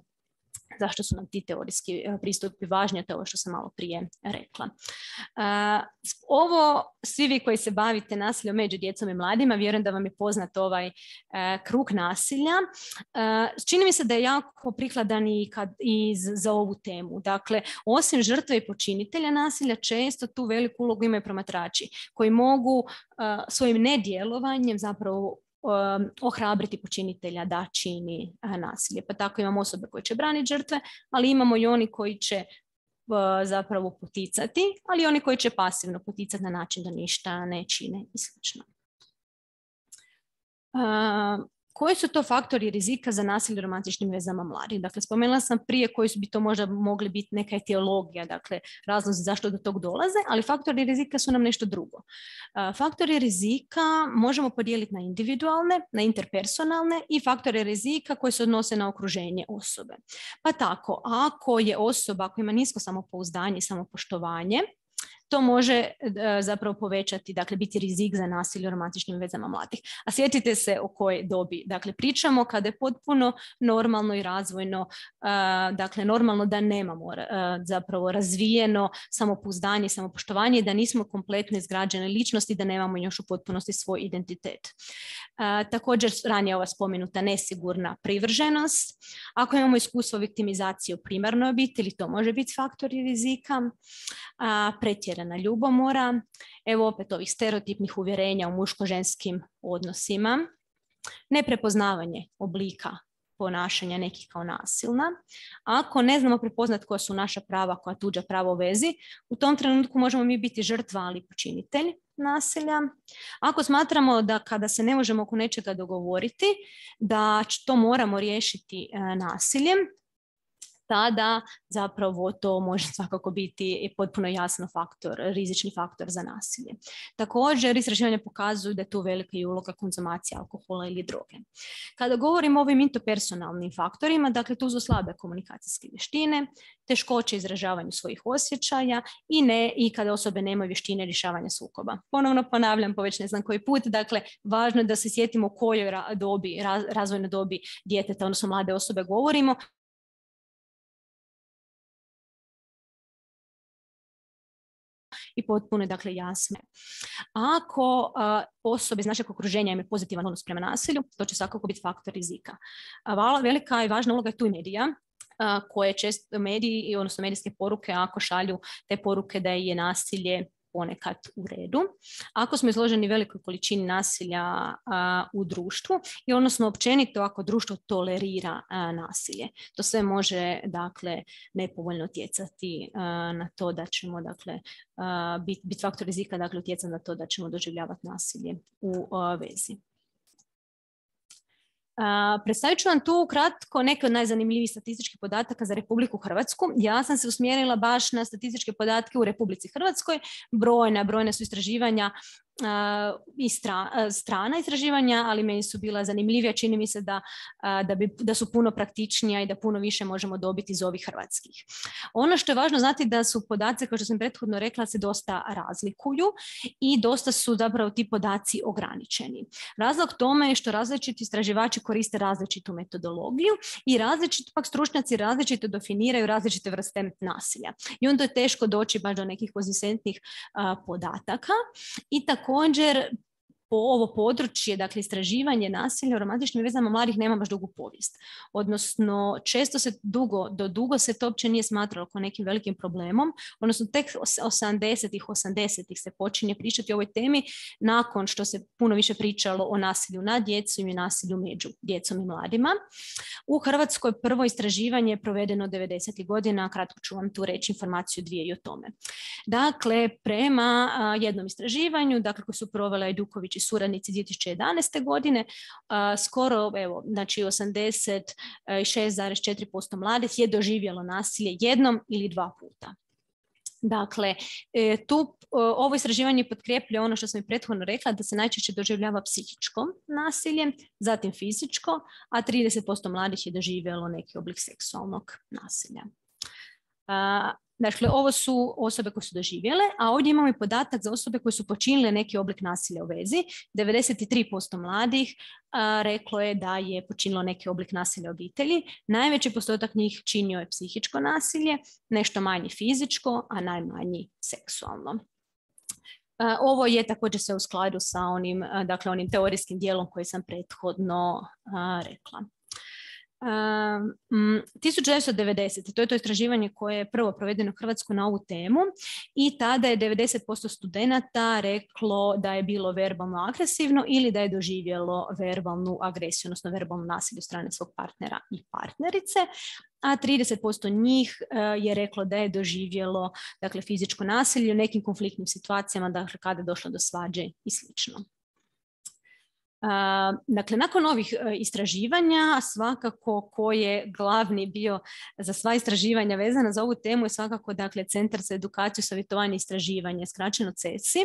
zašto su nam ti teorijski pristupi važni, a to je ovo što sam malo prije rekla. Uh, ovo, svi vi koji se bavite nasiljem među djecom i mladima, vjerujem da vam je poznat ovaj uh, krug nasilja. Uh, čini mi se da je jako prikladan i, kad, i za ovu temu. Dakle, osim žrtve i počinitelja nasilja, često tu veliku ulogu imaju promatrači koji mogu uh, svojim nedjelovanjem zapravo Um, ohrabriti počinitelja da čini uh, nasilje. Pa tako imamo osobe koje će braniti žrtve, ali imamo i oni koji će uh, zapravo poticati, ali i oni koji će pasivno poticati na način da ništa ne čine i slično. Uh, Koji su to faktori rizika za nasilje u romantičnim vezama mladih? Dakle, spomenula sam prije koji bi to možda mogli biti neka etiologija, dakle, razlozi zašto do tog dolaze, ali faktori rizika su nam nešto drugo. Faktori rizika možemo podijeliti na individualne, na interpersonalne i faktore rizika koji se odnose na okruženje osobe. Pa tako, ako je osoba koja ima nisko samopouzdanje i samopoštovanje, to može uh, zapravo povećati, dakle, biti rizik za nasilje u romantičnim vezama mladih. A sjetite se o kojoj dobi, dakle, pričamo kada je potpuno normalno i razvojno, uh, dakle, normalno da nemamo uh, zapravo razvijeno samopouzdanje i samopoštovanje, da nismo kompletno izgrađene ličnosti, da nemamo još u potpunosti svoj identitet. Uh, također, ranije ova spomenuta nesigurna privrženost. Ako imamo iskustvo viktimizacije u primarnoj obitelji, to može biti faktori rizika. Uh, pretjerana ljubomora, evo opet ovih stereotipnih uvjerenja u muško-ženskim odnosima, neprepoznavanje oblika ponašanja nekih kao nasilna. Ako ne znamo prepoznati koja su naša prava, koja tuđa prava u vezi, u tom trenutku možemo mi biti žrtva, ali počinitelj nasilja. Ako smatramo da kada se ne možemo oko nečega dogovoriti, da to moramo riješiti e, nasiljem, tada zapravo to može svakako biti potpuno jasno faktor, rizični faktor za nasilje. Također, istraživanja pokazuju da je tu velika i uloga konzumacije alkohola ili droge. Kada govorimo o ovim interpersonalnim faktorima, dakle tu su slabe komunikacijske vještine, teškoće izražavanju svojih osjećaja i, ne, i kada osobe nemaju vještine rješavanja sukoba. Ponovno ponavljam po već ne znam koji put, dakle važno je da se sjetimo o kojoj dobi, razvojnoj dobi djeteta, odnosno mlade osobe govorimo, i potpuno je dakle jasno. Ako a, osobe iz našeg okruženja imaju pozitivan odnos prema nasilju, to će svakako biti faktor rizika. A, velika i važna uloga je tu i medija, a, koje često mediji, odnosno medijske poruke, ako šalju te poruke da je nasilje ponekad u redu. Ako smo izloženi velikoj količini nasilja a, u društvu i odnosno općenito ako društvo tolerira a, nasilje, to sve može dakle nepovoljno utjecati a, na to da ćemo dakle biti bit faktor rizika, dakle utjecati na to da ćemo doživljavati nasilje u a, vezi. Uh, predstavit ću vam tu kratko neke od najzanimljivijih statističkih podataka za Republiku Hrvatsku. Ja sam se usmjerila baš na statističke podatke u Republici Hrvatskoj. Brojna, brojna su istraživanja uh, i stra, uh, strana istraživanja, ali meni su bila zanimljivija. Čini mi se da, uh, da, bi, da su puno praktičnija i da puno više možemo dobiti iz ovih hrvatskih. Ono što je važno znati da su podaci, kao što sam prethodno rekla, se dosta razlikuju i dosta su zapravo ti podaci ograničeni. Razlog tome je što različiti istraživači koriste različitu metodologiju i različiti pak stručnjaci različito definiraju različite vrste nasilja. I onda je teško doći baš do nekih konzistentnih uh, podataka. I također po ovo područje, dakle istraživanje nasilja u romantičnim vezama mladih nema baš dugu povijest. Odnosno često se dugo, do dugo se to uopće nije smatralo kao nekim velikim problemom, odnosno tek osamdesetih, osamdesetih se počinje pričati o ovoj temi nakon što se puno više pričalo o nasilju nad djecom i nasilju među djecom i mladima. U Hrvatskoj prvo istraživanje je provedeno devedesetih godina, kratko ću vam tu reći informaciju dvije i o tome. Dakle, prema a, jednom istraživanju, dakle koje su provele Ajduković i suradnici dvije tisuće jedanaeste godine, a, skoro evo, znači osamdeset šest zarez četiri posto mladih je doživjelo nasilje jednom ili dva puta. Dakle, tu ovo istraživanje potkrepljuje ono što sam i prethodno rekla, da se najčešće doživljava psihičko nasilje, zatim fizičko, a trideset posto mladih je doživjelo neki oblik seksualnog nasilja. Dakle, ovo su osobe koje su doživjele, a ovdje imamo i podatak za osobe koje su počinile neki oblik nasilja u vezi. devedeset tri posto mladih a, reklo je da je počinilo neki oblik nasilja u obitelji. Najveći postotak njih činio je psihičko nasilje, nešto manji fizičko, a najmanji seksualno. A, ovo je također sve u skladu sa onim, a, dakle, onim teorijskim dijelom koji sam prethodno a, rekla. Um, tisuću devetsto devedesete. To je to istraživanje koje je prvo provedeno u Hrvatskoj na ovu temu i tada je devedeset posto studenata reklo da je bilo verbalno agresivno ili da je doživjelo verbalnu agresiju, odnosno verbalno nasilje od strane svog partnera i partnerice, a trideset posto njih uh, je reklo da je doživjelo dakle, fizičko nasilje u nekim konfliktnim situacijama, dakle kada je došlo do svađe i slično. Uh, dakle, nakon ovih uh, istraživanja, svakako ko je glavni bio za sva istraživanja vezana za ovu temu je svakako dakle, Centar za edukaciju, savjetovanje i istraživanje, skraćeno C E S I.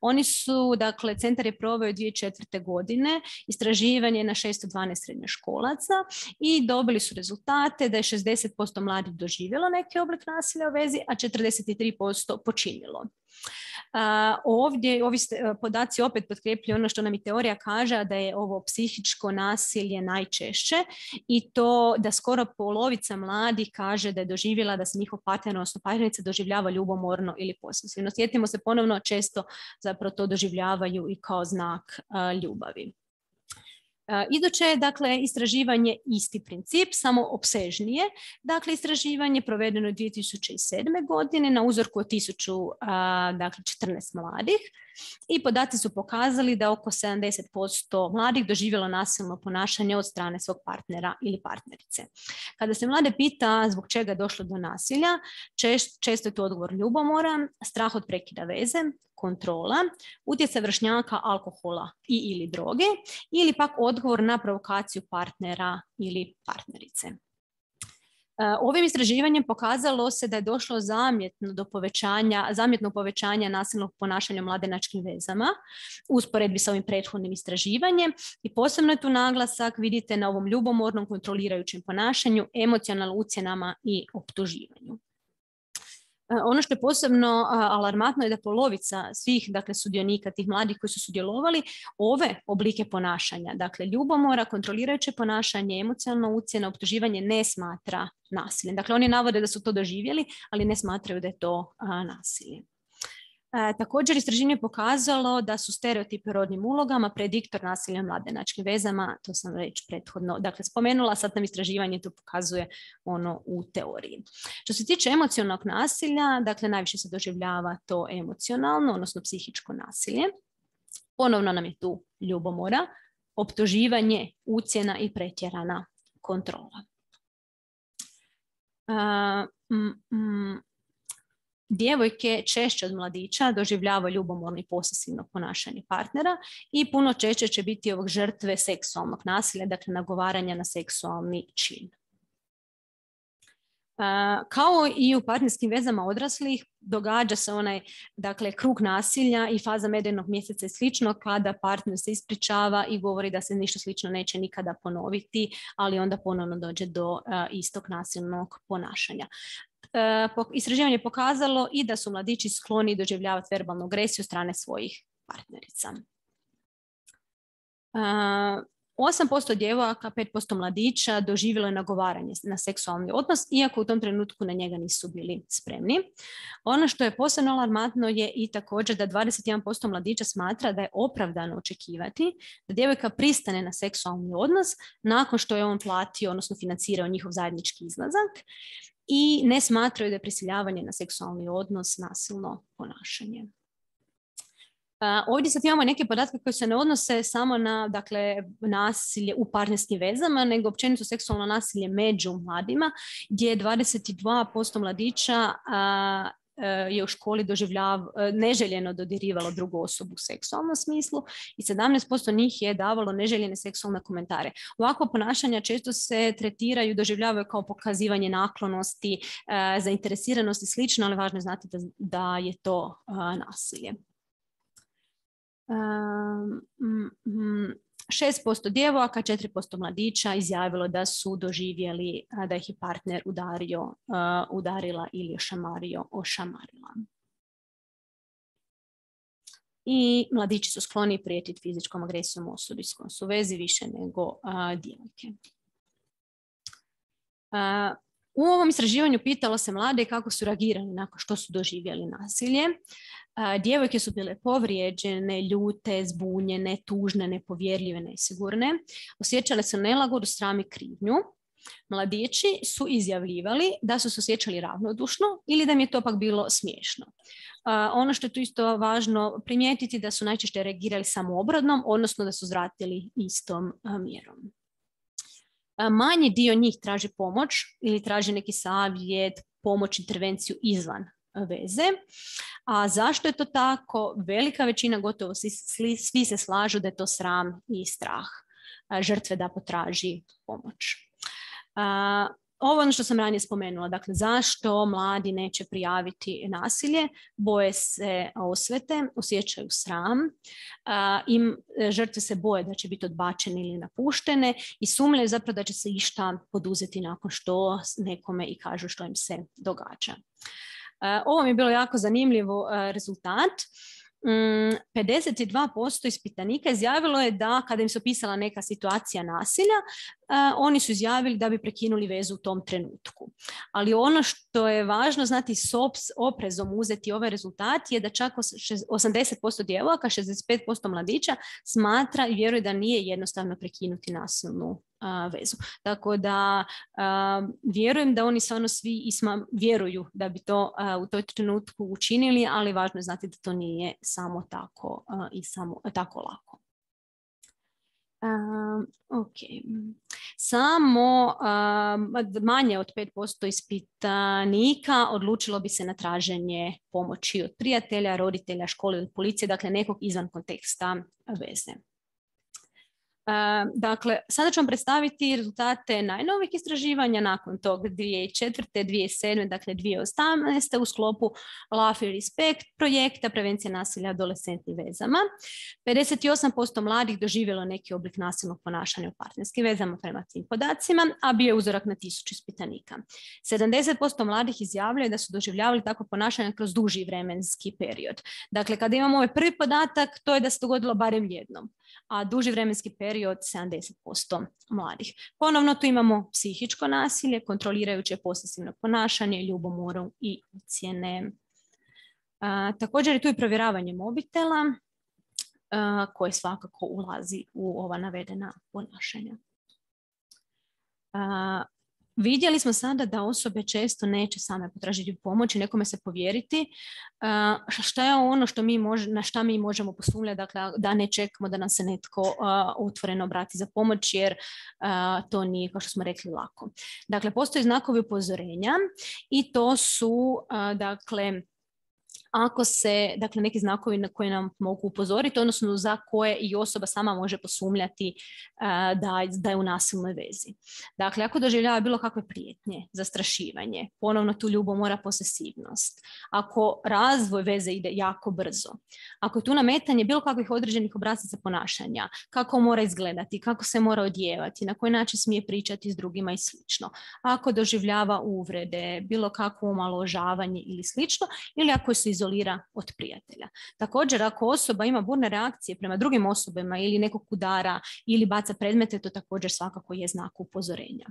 Oni su, dakle, centar je proveo dvije tisuće četvrte. godine istraživanje na šesto dvanaest srednjoškolaca i dobili su rezultate da je šezdeset posto mladih doživjelo neki oblik nasilja u vezi, a četrdeset tri posto počinilo. Uh, ovdje ovi podaci opet potkrepljuju ono što nam i teorija kaže, da je ovo psihičko nasilje najčešće i to da skoro polovica mladih kaže da je doživjela da se njihov partner, odnosno partnerica doživljava ljubomorno ili posesivno. Sjetimo se ponovno, često zapravo to doživljavaju i kao znak uh, ljubavi. Uh, iduće je dakle istraživanje isti princip, samo opsežnije. Dakle, istraživanje provedeno je dvije tisuće sedme. godine na uzorku od tisuću četrnaest mladih i podaci su pokazali da oko sedamdeset posto mladih doživjelo nasilno ponašanje od strane svog partnera ili partnerice. Kada se mlade pita zbog čega je došlo do nasilja, čest, često je to odgovor ljubomora, strah od prekida veze, kontrola, utjecaj vršnjaka, alkohola i ili droge ili pak odgovor na provokaciju partnera ili partnerice. Ovim istraživanjem pokazalo se da je došlo zamjetno do povećanja, zamjetno povećanja nasilnog ponašanja u mladenačkim vezama u usporedbi sa ovim prethodnim istraživanjem i posebno je tu naglasak, vidite, na ovom ljubomornom kontrolirajućem ponašanju, emocionalnim ucjenama i optuživanju. Ono što je posebno alarmantno je da polovica svih dakle, sudionika, tih mladih koji su sudjelovali, ove oblike ponašanja, dakle ljubomora, kontrolirajuće ponašanje, emocionalno ucjena, optuživanje ne smatra nasiljem. Dakle, oni navode da su to doživjeli, ali ne smatraju da je to a, nasilje. E, također istraživanje je pokazalo da su stereotipi o rodnim ulogama prediktor nasilja u mladenačkim vezama, to sam već prethodno dakle, spomenula, sad nam istraživanje to pokazuje ono u teoriji. Što se tiče emocionalnog nasilja, dakle najviše se doživljava to emocionalno, odnosno psihičko nasilje. Ponovno nam je tu ljubomora, optuživanje, ucjena i pretjerana kontrola. Uh, mm, mm, Djevojke češće od mladića doživljavaju ljubomorno i posesivno ponašanje partnera i puno češće će biti ovog žrtve seksualnog nasilja, dakle nagovaranja na seksualni čin. Uh, kao i u partnerskim vezama odraslih, događa se onaj dakle, krug nasilja i faza medrenog mjeseca i slično kada partner se ispričava i govori da se ništa slično neće nikada ponoviti, ali onda ponovno dođe do uh, istog nasilnog ponašanja. Uh, istraživanje je pokazalo i da su mladići skloni doživljavati verbalnu agresiju od strane svojih partnerica. Uh, osam posto djevojaka, pet posto mladića doživjelo je nagovaranje na seksualni odnos, iako u tom trenutku na njega nisu bili spremni. Ono što je posebno alarmantno je i također da dvadeset jedan posto mladića smatra da je opravdano očekivati da djevojka pristane na seksualni odnos nakon što je on platio, odnosno financirao njihov zajednički izlazak, i ne smatraju da je prisiljavanje na seksualni odnos nasilno ponašanje. Uh, ovdje sad imamo neke podatke koje se ne odnose samo na dakle, nasilje u partnerskim vezama, nego općenito seksualno nasilje među mladima, gdje dvadeset dva posto mladića uh, uh, je u školi doživljav, uh, neželjeno dodirivalo drugu osobu u seksualnom smislu i sedamnaest posto njih je davalo neželjene seksualne komentare. Ovako ponašanja često se tretiraju, doživljavaju kao pokazivanje naklonosti, uh, zainteresiranosti i slično, ali važno je znati da, da je to uh, nasilje. šest posto djevojaka, četiri posto mladića izjavilo da su doživjeli da ih je partner udario, udarila ili ošamario, ošamarila. I mladići su skloni prijetiti fizičkom agresijom osobi s kojom su u vezi više nego djevojke. U ovom istraživanju pitalo se mlade kako su reagirali nakon što su doživjeli nasilje. Djevojke su bile povrijeđene, ljute, zbunjene, tužne, nepovjerljive, nesigurne. Osjećale su nelagodu, sram i krivnju. Mladići su izjavljivali da su se osjećali ravnodušno ili da im je to pak bilo smiješno. Ono što je tu isto važno primijetiti da su najčešće reagirali samoobradnom, odnosno da su zvratili istom mjerom. Manji dio njih traži pomoć ili traži neki savjet, pomoć, intervenciju izvan veze. A zašto je to tako? Velika većina, gotovo svi, svi se slažu da je to sram i strah žrtve da potraži pomoć. Ovo je ono što sam ranije spomenula. Dakle, zašto mladi neće prijaviti nasilje? Boje se osvete, osjećaju sram, im žrtve se boje da će biti odbačene ili napuštene i sumnjaju zapravo da će se išta poduzeti nakon što nekome i kažu što im se događa. Ovo mi je bilo jako zanimljivo rezultat. pedeset dva posto ispitanika izjavilo je da kada im se opisala neka situacija nasilja, oni su izjavili da bi prekinuli vezu u tom trenutku. Ali ono što je važno znati s oprezom uzeti ovaj rezultat je da čak osamdeset posto djevojaka, šezdeset pet posto mladića smatra i vjeruje da nije jednostavno prekinuti nasilnu vezu. Tako da uh, vjerujem da oni stvarno svi isma vjeruju da bi to uh, u toj trenutku učinili, ali važno je znati da to nije samo tako uh, i samo uh, tako lako. Uh, okay. Samo uh, manje od pet posto ispitanika odlučilo bi se na traženje pomoći od prijatelja, roditelja, škole ili policije, dakle nekog izvan konteksta veze. Uh, dakle, sada ću vam predstaviti rezultate najnovijih istraživanja nakon tog dvije tisuće četvrte. dvije tisuće sedme. dakle dvije tisuće osamnaeste. u sklopu Love i Respect projekta prevencije nasilja adolescentnim vezama. pedeset osam posto mladih doživjelo neki oblik nasilnog ponašanja u partnerskim vezama prema tim podacima, a bio je uzorak na tisuću ispitanika. sedamdeset posto mladih izjavljuje da su doživljavali takvo ponašanje kroz duži vremenski period. Dakle, kada imamo ovaj prvi podatak, to je da se dogodilo barem jednom, a duži vremenski period sedamdeset posto mladih. Ponovno tu imamo psihičko nasilje, kontrolirajuće posesivno ponašanje, ljubomoru i ucjene. Također je tu i provjeravanje mobitela koje svakako ulazi u ova navedena ponašanja. Vidjeli smo sada da osobe često neće same potražiti pomoć i nekome se povjeriti. Šta je ono što mi može, na šta mi možemo posumljati, dakle, da ne čekamo da nam se netko uh, otvoreno obrati za pomoć, jer uh, to nije, kao što smo rekli, lako. Dakle, postoje znakovi upozorenja i to su, uh, dakle, ako se, dakle, neki znakovi na koje nam mogu upozoriti, odnosno za koje i osoba sama može posumnjati uh, da, da je u nasilnoj vezi. Dakle, ako doživljava bilo kakve prijetnje, zastrašivanje, ponovno tu ljubomora, posesivnost, ako razvoj veze ide jako brzo, ako je tu nametanje bilo kakvih određenih obrazaca ponašanja, kako mora izgledati, kako se mora odjevati, na koji način smije pričati s drugima i slično, ako doživljava uvrede, bilo kakvo omalovažavanje ili slično, ili ako se izolira od prijatelja. Također, ako osoba ima burne reakcije prema drugim osobama ili nekog udara ili baca predmete, to također svakako je znak upozorenja.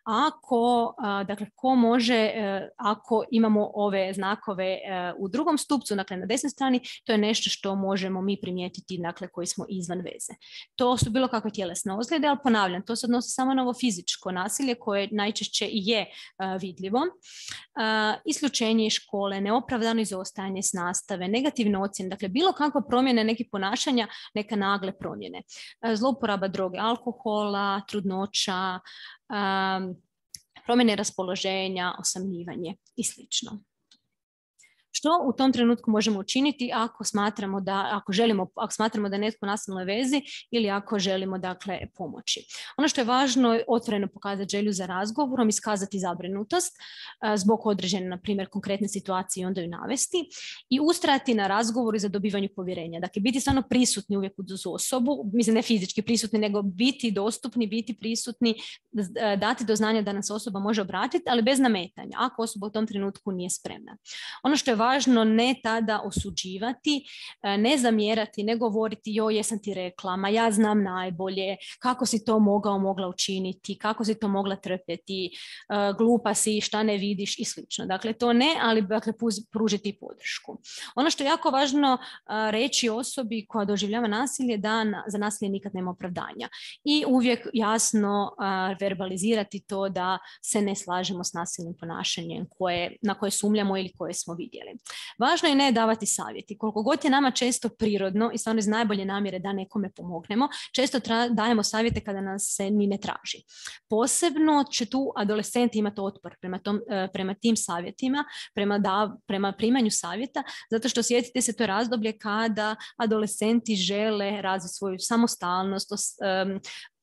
Ako, dakle, ko može, ako imamo ove znakove u drugom stupcu, dakle na desnoj strani, to je nešto što možemo mi primijetiti, dakle, koji smo izvan veze. To su bilo kakve tjelesne ozljede, ali ponavljam, to se odnosi samo na ovo fizičko nasilje koje najčešće i je vidljivo. Isključenje iz škole, neopravdano izostajanje s nastave, negativne ocjene, dakle bilo kakva promjena nekih ponašanja, neka nagle promjene. Zlouporaba droge, alkohola, trudnoća, um, promjene raspoloženja, osamljivanje i slično. Što u tom trenutku možemo učiniti ako smatramo da, ako želimo, ako smatramo da je netko u nasilnoj vezi ili ako želimo, dakle, pomoći. Ono što je važno je otvoreno pokazati želju za razgovorom, iskazati zabrinutost zbog određene, na primjer, konkretne situacije i onda ju navesti i ustrajati na razgovoru i za dobivanju povjerenja. Dakle, biti stvarno prisutni uvijek uz osobu, mislim ne fizički prisutni, nego biti dostupni, biti prisutni, dati do znanja da nas osoba može obratiti, ali bez nametanja, ako osoba u tom trenutku nije spremna. Ono što je važno, ne tada osuđivati, ne zamjerati, ne govoriti joj, jesam ti rekla, ma ja znam najbolje, kako si to mogao, mogla učiniti, kako si to mogla trpjeti, glupa si, šta ne vidiš i slično. Dakle, to ne, ali, dakle, pružiti podršku. Ono što je jako važno reći osobi koja doživljava nasilje, da za nasilje nikad nema opravdanja i uvijek jasno verbalizirati to da se ne slažemo s nasilnim ponašanjem koje, na koje sumnjamo ili koje smo vidjeli. Važno je ne davati savjeti. Koliko god je nama često prirodno i stvarno iz najbolje namjere da nekome pomognemo, često tra- dajemo savjete kada nas se ni ne traži. Posebno će tu adolescenti imati otpor prema, tom, prema tim savjetima, prema, da, prema primanju savjeta, zato što sjetite se, to je razdoblje kada adolescenti žele razviti svoju samostalnost, um,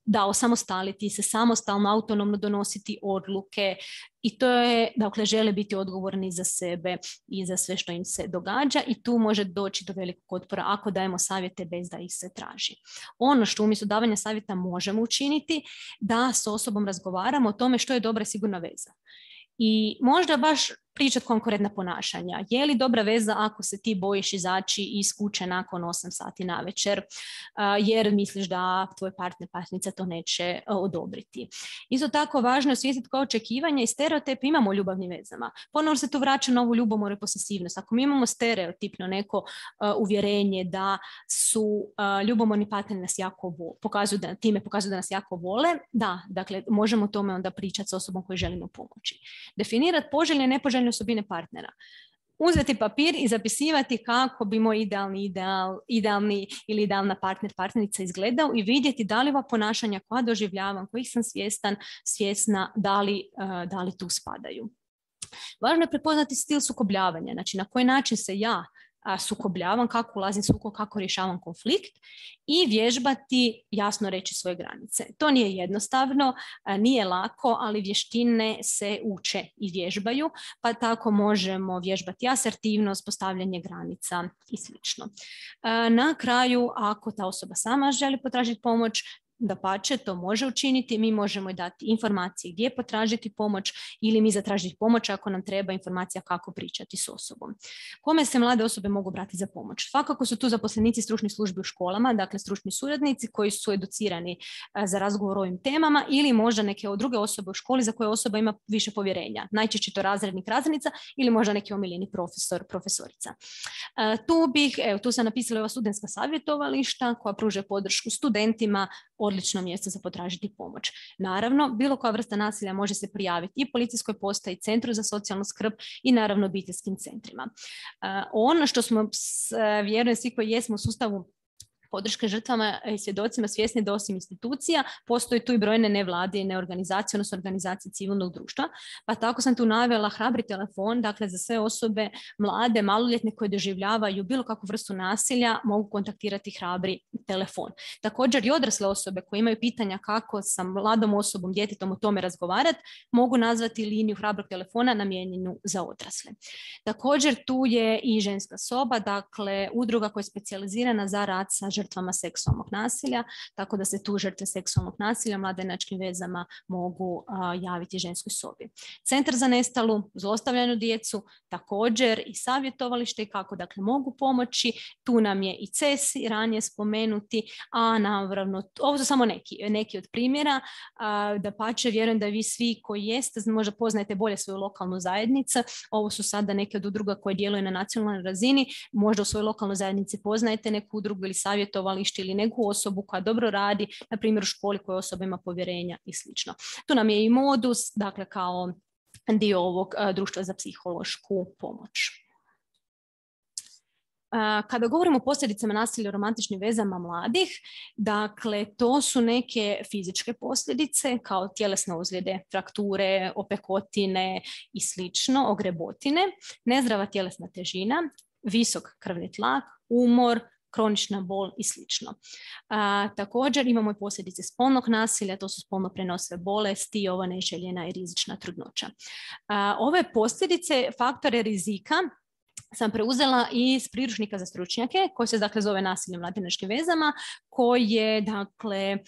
da osamostaliti se, samostalno, autonomno donositi odluke i to je, dakle, žele biti odgovorni za sebe i za sve što im se događa i tu može doći do velikog otpora ako dajemo savjete bez da ih se traži. Ono što umjesto davanja savjeta možemo učiniti, da s osobom razgovaramo o tome što je dobra i sigurna veza. I možda baš pričati konkurentna ponašanja. Je li dobra veza ako se ti bojiš izaći iz kuće nakon osam sati navečer, jer misliš da tvoj partner, partnernica to neće odobriti. Isto tako važno je osvijestiti koja očekivanja i stereotipe imamo u ljubavnim vezama. Ponovno se tu vraća na ovu ljubomoru i posesivnost. Ako mi imamo stereotipno neko uh, uvjerenje da su uh, ljubomorni partneri nas jako vole, pokazuju da, time pokazuju da nas jako vole, da, dakle, možemo o tome onda pričati s osobom koju želimo pomoći. Definirati poželjne i nepoželjne osobine partnera. Uzeti papir i zapisivati kako bi moj idealni, ideal, idealni ili idealna partner, partnerica izgledao i vidjeti da li ova ponašanja koja doživljavam, kojih sam svjestan, svjesna, da li, uh, da li tu spadaju. Važno je prepoznati stil sukobljavanja, znači na koji način se ja sukobljavam, kako ulazim sukob, kako rješavam konflikt i vježbati, jasno reći svoje granice. To nije jednostavno, nije lako, ali vještine se uče i vježbaju, pa tako možemo vježbati asertivnost, postavljanje granica i slično. Na kraju, ako ta osoba sama želi potražiti pomoć, dapače, to može učiniti, mi možemo dati informacije gdje potražiti pomoć ili mi zatražiti pomoć ako nam treba informacija kako pričati s osobom. Kome se mlade osobe mogu obratiti za pomoć? Svakako su tu zaposlenici stručnih službi u školama, dakle stručni suradnici koji su educirani za razgovor o ovim temama ili možda neke druge osobe u školi za koje osoba ima više povjerenja. Najčešće to razrednik, razrednica ili možda neki omiljeni profesor, profesorica. Tu bih, evo, tu sam napisala ova studentska savjetovališta koja pruža podršku studentima, odlično mjesto za potražiti pomoć. Naravno, bilo koja vrsta nasilja može se prijaviti i policijskoj postaji, centru za socijalnu skrb i naravno obiteljskim centrima. Ono što smo, vjerujem svi koji jesmo u sustavu podrške žrtvama i svjedocima svjesni da osim institucija postoji tu i brojne nevladine organizacije, odnosno organizacije civilnog društva. Pa tako sam tu navela Hrabri telefon, dakle za sve osobe mlade, maloljetne koje doživljavaju bilo kakvu vrstu nasilja mogu kontaktirati Hrabri telefon. Također i odrasle osobe koje imaju pitanja kako sa mladom osobom, djetetom o tome razgovarati, mogu nazvati liniju Hrabrog telefona namijenjenu za odrasle. Također tu je i ženska soba, dakle udruga koja je specijalizirana za rad sa žrtvama seksualnog nasilja, tako da se tu žrtve seksualnog nasilja mladenačkim vezama mogu a, javiti ženskoj sobi. Centar za nestalu, zlostavljanu djecu, također i savjetovalište i kako dakle mogu pomoći. Tu nam je i C E S I ranije spomenuti, a naravno, ovo su samo neki, neki od primjera. A, dapače, vjerujem da vi svi koji jeste, možda poznajete bolje svoju lokalnu zajednicu. Ovo su sada neke od udruga koje djeluju na nacionalnoj razini. Možda u svojoj lokalnoj zajednici poznajete neku udrugu ili savjetovalište ili neku osobu koja dobro radi, na primjer u školi koja osoba ima povjerenja i slično. Tu nam je i Modus, dakle kao dio ovog a, društva za psihološku pomoć. Kada govorimo o posljedicama nasilja u romantičnim vezama mladih, dakle to su neke fizičke posljedice kao tjelesne ozljede, frakture, opekotine i slično, ogrebotine, nezdrava tjelesna težina, visok krvni tlak, umor, kronična bol i slično. A, također imamo i posljedice spolnog nasilja, to su spolno prenosive bolesti i ova neželjena i rizična trudnoća. A, ove posljedice, faktore rizika sam preuzela iz priručnika za stručnjake koji se dakle zove Nasilje u mladenačkim vezama, koji je dakle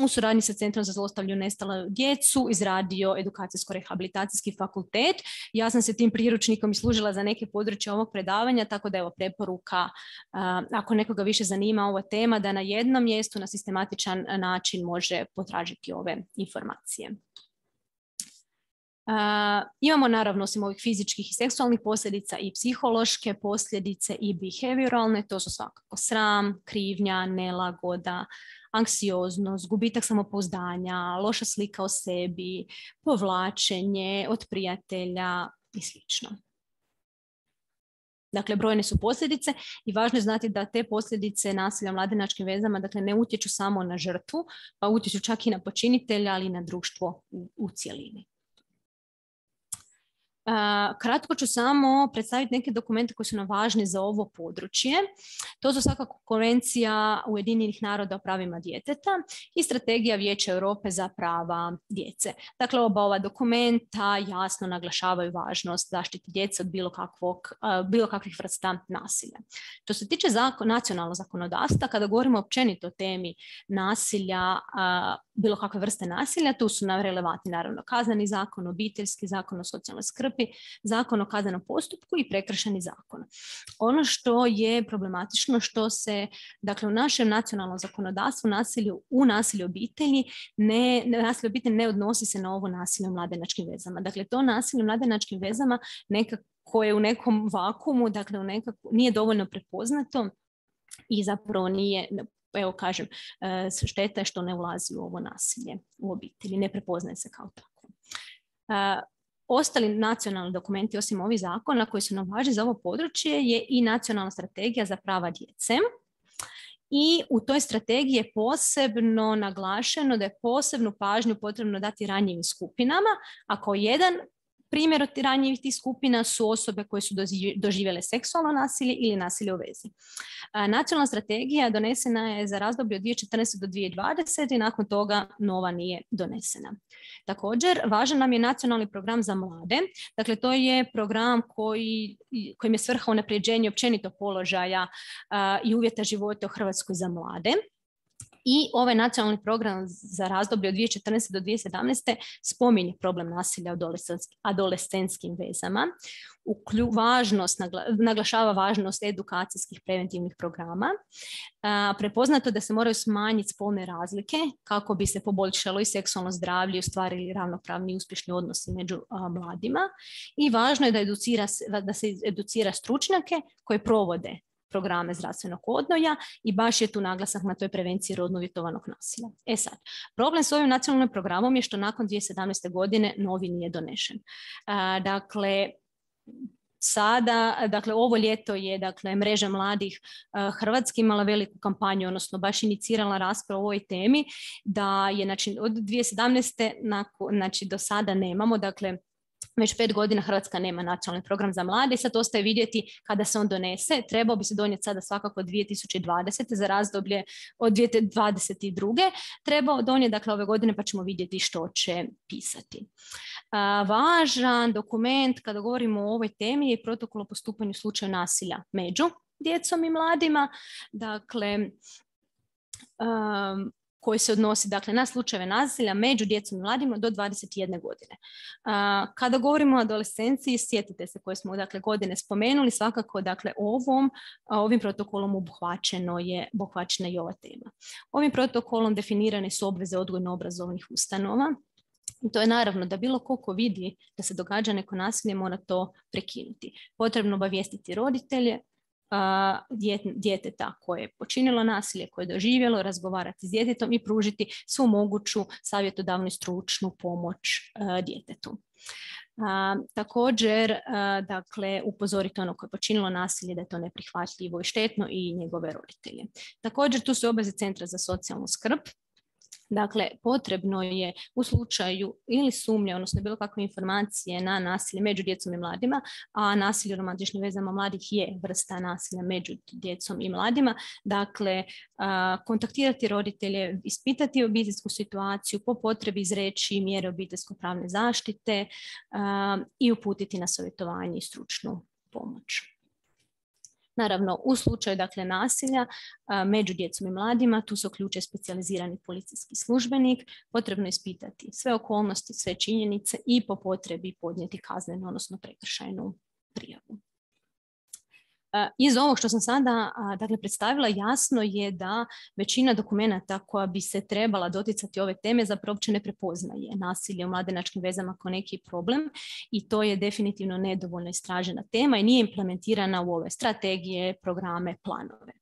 u suradnji sa Centrom za zlostavljanu i nestalu djecu izradio edukacijsko-rehabilitacijski fakultet. Ja sam se tim priručnikom i služila za neke područje ovog predavanja, tako da evo preporuka uh, ako nekoga više zanima ova tema da na jednom mjestu na sistematičan način može potražiti ove informacije. Uh, imamo naravno osim ovih fizičkih i seksualnih posljedica i psihološke posljedice i behavioralne, to su svakako sram, krivnja, nelagoda, anksioznost, gubitak samopouzdanja, loša slika o sebi, povlačenje od prijatelja i slično. Dakle, brojne su posljedice i važno je znati da te posljedice nasilja u mladenačkim vezama dakle, ne utječu samo na žrtvu, pa utječu čak i na počinitelja, ali i na društvo u, u cjelini. Uh, kratko ću samo predstaviti neke dokumente koji su nam važni za ovo područje. To su svakako Konvencija Ujedinjenih naroda o pravima djeteta i Strategija Vijeća Europe za prava djece. Dakle, oba ova dokumenta jasno naglašavaju važnost zaštite djece od bilo, kakvog, uh, bilo kakvih vrsta nasilja. Što se tiče zakon, nacionalnog zakonodavstva, kada govorimo općenito o temi nasilja, uh, bilo kakve vrste nasilja, tu su nam relevantni naravno Kazneni zakon, Obiteljski zakon o socijalnoj skrbi, Zakon o kaznenom postupku i Prekršajni zakon. Ono što je problematično, što se dakle, u našem nacionalnom zakonodavstvu nasilju, u nasilju obitelji ne, nasilje obitelji ne odnosi se na ovo nasilje u mladenačkim vezama. Dakle, to nasilje u mladenačkim vezama nekako je u nekom vakuumu, dakle u nekako, nije dovoljno prepoznato i zapravo nije, evo kažem, šteta je što ne ulazi u ovo nasilje u obitelji, ne prepoznaje se kao tako. Ostali nacionalni dokumenti osim ovih zakona koji su nam važni za ovo područje je i Nacionalna strategija za prava djece. I u toj strategiji je posebno naglašeno da je posebnu pažnju potrebno dati ranjivim skupinama, a kao jedan primjer od ranjivih tih skupina su osobe koje su doživjele seksualno nasilje ili nasilje u vezi. Nacionalna strategija donesena je za razdoblje od dvije tisuće četrnaeste do dvije tisuće dvadesete i nakon toga nova nije donesena. Također, važan nam je nacionalni program za mlade. Dakle, to je program koji, kojim je svrha unapređenje općenito položaja uh, i uvjeta života u Hrvatskoj za mlade. I ovaj nacionalni program za razdoblje od dvije tisuće četrnaeste do dvije tisuće sedamnaeste spominje problem nasilja u adolescentskim vezama, uklju, važnost, nagla, naglašava važnost edukacijskih preventivnih programa, a, prepoznato da se moraju smanjiti spolne razlike kako bi se poboljšalo i seksualno zdravlje i ostvarili ravnopravni i uspješni odnosi među a, mladima. I važno je da, educira, da se educira stručnjake koji provode programe zdravstvenog odgoja i baš je tu naglasak na toj prevenciji rodno uvjetovanog nasilja. E sad, problem s ovim nacionalnim programom je što nakon dvije tisuće sedamnaeste. godine novi nije donešen. A, dakle, Sada, dakle, ovo ljeto je dakle, Mreža mladih uh, Hrvatske imala veliku kampanju, odnosno baš inicirala raspravu o ovoj temi, da je znači, od dvije tisuće sedamnaeste. Nakon, znači, do sada nemamo, dakle, već pet godina Hrvatska nema nacionalni program za mlade i sad ostaje vidjeti kada se on donese. Trebao bi se donijeti sada svakako dvije tisuće dvadesete. za razdoblje od dvije tisuće dvadeset druge. Trebao donijeti dakle ove godine pa ćemo vidjeti što će pisati. A, važan dokument kada govorimo o ovoj temi je protokol o postupanju u slučaju nasilja među djecom i mladima. Dakle, um, koji se odnosi dakle, na slučajeve nasilja među djecom i mladima do dvadeset jedne godine. A, kada govorimo o adolescenciji, sjetite se koje smo dakle, godine spomenuli, svakako dakle, ovom, ovim protokolom obuhvaćeno je, obuhvaćena je ova tema. Ovim protokolom definirane su obveze odgojno-obrazovnih ustanova. I to je naravno da bilo ko vidi da se događa neko nasilje mora to prekinuti. Potrebno obavijestiti roditelje, djeteta koje je počinilo nasilje, koje je doživjelo, razgovarati s djetetom i pružiti svu moguću savjetodavnu i stručnu pomoć djetetu. A, također, a, dakle, upozoriti ono koje je počinilo nasilje da je to neprihvatljivo i štetno i njegove roditelje. Također, tu su obveze Centra za socijalnu skrb. Dakle, potrebno je u slučaju ili sumnje, odnosno bilo kakve informacije na nasilje među djecom i mladima, a nasilje u romantičnim vezama mladih je vrsta nasilja među djecom i mladima, dakle, kontaktirati roditelje, ispitati obiteljsku situaciju, po potrebi izreći mjere obiteljsko-pravne zaštite i uputiti na savjetovanje i stručnu pomoć. Naravno, u slučaju dakle, nasilja a, među djecom i mladima, tu se uključuje specijalizirani policijski službenik, potrebno je ispitati sve okolnosti, sve činjenice i po potrebi podnijeti kaznenu, odnosno prekršajnu prijavu. Iz ovog što sam sada dakle, predstavila jasno je da većina dokumenata koja bi se trebala doticati ove teme zapravo uopće ne prepoznaje nasilje u mladenačkim vezama kao neki problem i to je definitivno nedovoljno istražena tema i nije implementirana u ove strategije, programe, planove.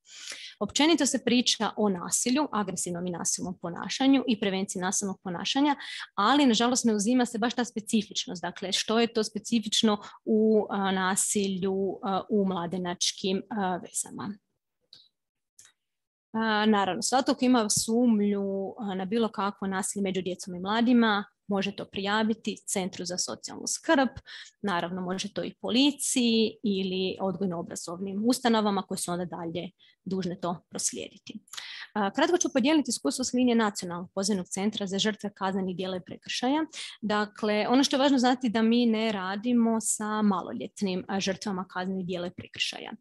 Općenito se priča o nasilju, agresivnom i nasilnom ponašanju i prevenciji nasilnog ponašanja, ali nažalost ne uzima se baš ta specifičnost. Dakle, što je to specifično u a, nasilju a, u mladenačkim a, vezama. A, naravno, svatko ko ima sumnju a, na bilo kakvo nasilje među djecom i mladima, može to prijaviti Centru za socijalnu skrb, naravno može to i policiji ili odgojno-obrazovnim ustanovama koje su onda dalje dužne to proslijediti. Kratko ću podijeliti iskustvo s linije Nacionalnog pozivnog centra za žrtve kaznenih djela i prekršaja. Dakle, ono što je važno znati da mi ne radimo sa maloljetnim žrtvama kaznenih djela i prekršaja.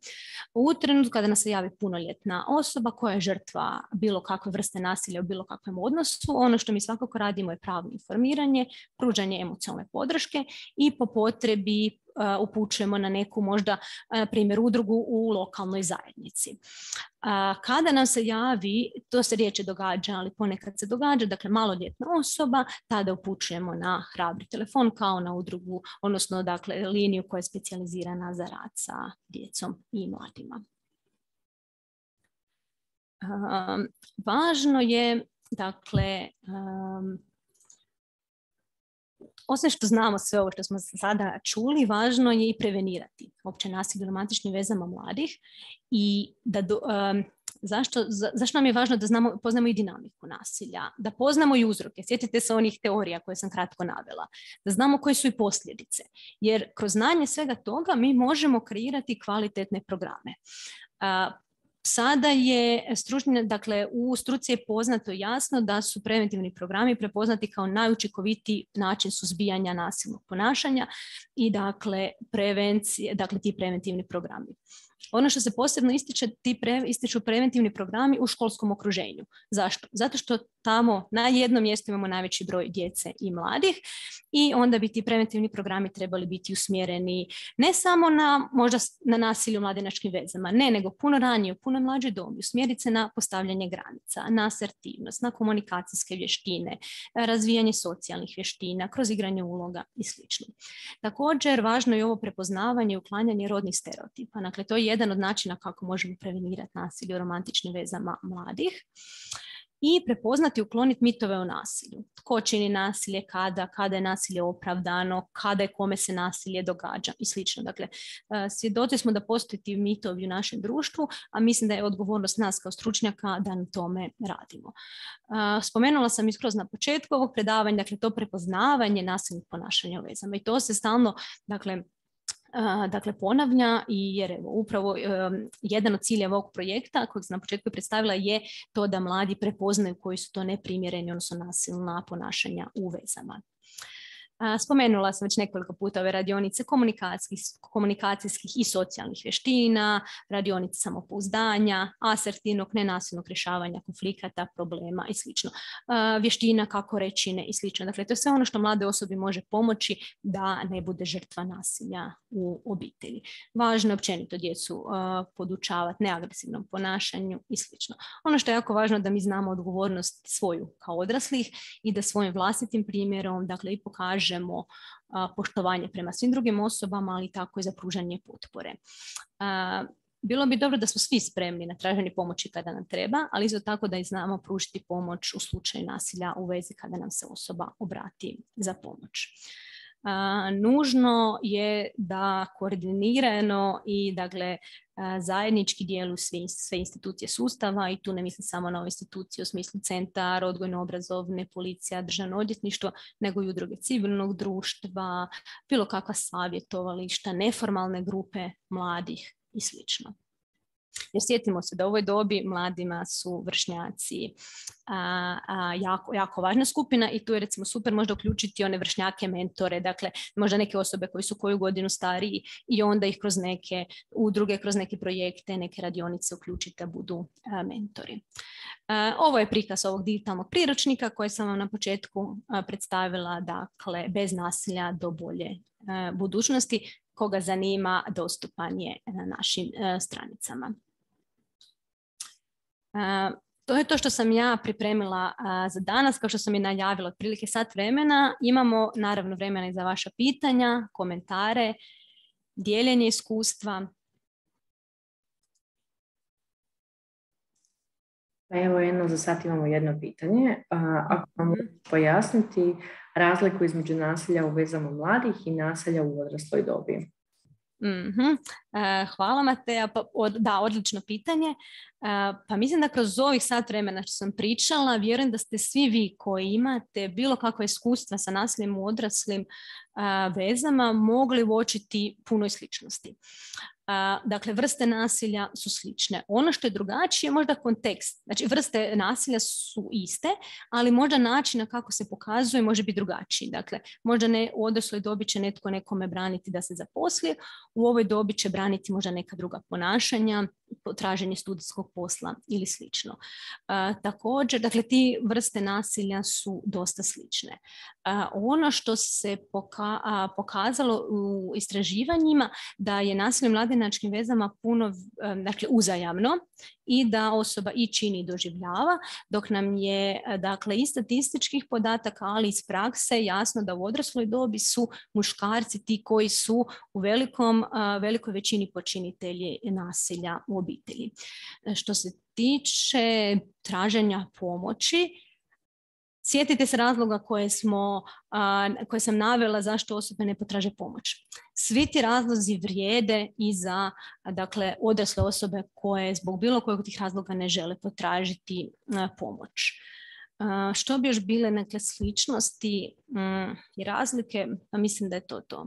U trenutku kada nas se javi punoljetna osoba koja je žrtva bilo kakve vrste nasilja u bilo kakvom odnosu, ono što mi svakako radimo je pravno informiranje, pružanje emocionalne podrške i po potrebi Uh, upućujemo na neku možda, uh, primjer, udrugu u lokalnoj zajednici. Uh, kada nam se javi, to se riječe događa, ali ponekad se događa, dakle maloljetna osoba, tada upućujemo na hrabri telefon kao na udrugu, odnosno dakle liniju koja je specijalizirana za rad sa djecom i mladima. Um, važno je, dakle, um, osim što znamo sve ovo što smo sada čuli, važno je i prevenirati opće nasilje u romantičnim vezama mladih i da do, um, zašto, za, zašto nam je važno da znamo, poznamo i dinamiku nasilja, da poznamo i uzroke. Sjetite se onih teorija koje sam kratko navela, da znamo koje su i posljedice, jer kroz znanje svega toga mi možemo kreirati kvalitetne programe. Uh, Sada je stručni, dakle u struci je poznato jasno da su preventivni programi prepoznati kao najučinkovitiji način suzbijanja nasilnog ponašanja i dakle prevencije, dakle ti preventivni programi. Ono što se posebno ističe, ti pre, ističu preventivni programi u školskom okruženju. Zašto? Zato što tamo na jednom mjestu imamo najveći broj djece i mladih i onda bi ti preventivni programi trebali biti usmjereni ne samo na možda na nasilje u mladenačkim vezama, ne, nego puno ranije, u puno mlađoj dobi, usmjeriti se na postavljanje granica, na asertivnost, na komunikacijske vještine, razvijanje socijalnih vještina, kroz igranje uloga i sl. Također, važno je ovo prepoznavanje i uklanjanje rodnih stereotipa. Dakle, to je jedan od načina kako možemo prevenirati nasilje u romantičnim vezama mladih. I prepoznati i ukloniti mitove o nasilju. Tko čini nasilje, kada, kada je nasilje opravdano, kada je kome se nasilje događa i slično. Dakle, svjedoci smo da postoji ti mitovi u našem društvu, a mislim da je odgovornost nas kao stručnjaka da na tome radimo. Spomenula sam iskroz na početku ovog predavanja, dakle, to prepoznavanje nasilnih ponašanja u vezama. I to se stalno, dakle, Uh, dakle, ponavlja i jer evo, upravo um, jedan od ciljeva ovog projekta kojeg sam na početku predstavila je to da mladi prepoznaju koji su to neprimjereni, odnosno nasilna ponašanja u vezama. Spomenula sam već nekoliko puta ove radionice komunikacijskih, komunikacijskih i socijalnih vještina, radionice samopouzdanja, asertivnog, nenasilnog rješavanja konflikata, problema i slično. Vještina kako reći ne i slično. Dakle, to je sve ono što mlade osobi može pomoći da ne bude žrtva nasilja u obitelji. Važno je općenito djecu podučavati neagresivnom ponašanju i slično. Ono što je jako važno da mi znamo odgovornost svoju kao odraslih i da svojim vlastitim primjerom, dakle, i pokažemo poštovanje prema svim drugim osobama, ali tako i za pružanje potpore. Bilo bi dobro da smo svi spremni na traženje pomoći kada nam treba, ali isto tako da i znamo pružiti pomoć u slučaju nasilja u vezi kada nam se osoba obrati za pomoć. Uh, nužno je da koordinirano i dakle, uh, zajednički djeluju sve, sve institucije sustava i tu ne mislim samo na ove institucije u smislu centar, odgojno-obrazovne, policija, državno odvjetništvo, nego i udruge civilnog društva, bilo kakva savjetovališta, neformalne grupe mladih i slično. Jer sjetimo se da u ovoj dobi mladima su vršnjaci a, a, jako, jako važna skupina i tu je recimo super možda uključiti one vršnjake, mentore, dakle možda neke osobe koji su koju godinu stariji i onda ih kroz neke udruge, kroz neke projekte, neke radionice uključiti da budu a, mentori. A, ovo je prikaz ovog digitalnog priručnika koji sam vam na početku a, predstavila, dakle bez nasilja do bolje a, budućnosti. Koga zanima, dostupan je na našim uh, stranicama. Uh, to je to što sam ja pripremila uh, za danas. Kao što sam i najavila, otprilike sat vremena. Imamo naravno vremena i za vaša pitanja, komentare, dijeljenje iskustva. Evo jedno, za sad imamo jedno pitanje. Uh, ako vam možete pojasniti razliku između nasilja u vezama mladih i nasilja u odrasloj dobi? Mm-hmm. Uh, hvala Mateja. Pa, od, da, odlično pitanje. Uh, pa mislim da kroz ovih sat vremena što sam pričala, vjerujem da ste svi vi koji imate bilo kakva iskustva sa nasiljem u odraslim uh, vezama mogli uočiti puno sličnosti. Uh, dakle, vrste nasilja su slične. Ono što je drugačije je možda kontekst. Znači, vrste nasilja su iste, ali možda način na kako se pokazuje može biti drugačiji. Dakle, možda ne, u odrasloj dobi će netko nekome braniti da se zaposli, u ovoj dobi će braniti možda neka druga ponašanja, traženje studijskog posla ili slično. Uh, također, dakle, ti vrste nasilja su dosta slične. Uh, ono što se poka- uh, pokazalo u istraživanjima da je nasilje u mladenačkim vezama puno, um, dakle, uzajamno i da osoba i čini i doživljava, dok nam je, dakle, iz statističkih podataka, ali iz prakse jasno da u odrasloj dobi su muškarci ti koji su u velikom, uh, velikoj većini počinitelji nasilja u obitelji. Što se tiče traženja pomoći, sjetite se razloga koje, smo, koje sam navela zašto osobe ne potraže pomoć. Svi ti razlozi vrijede i za, dakle, odrasle osobe koje zbog bilo kojeg tih razloga ne žele potražiti pomoć. Što bi još bile neke sličnosti i razlike? Pa mislim da je to to.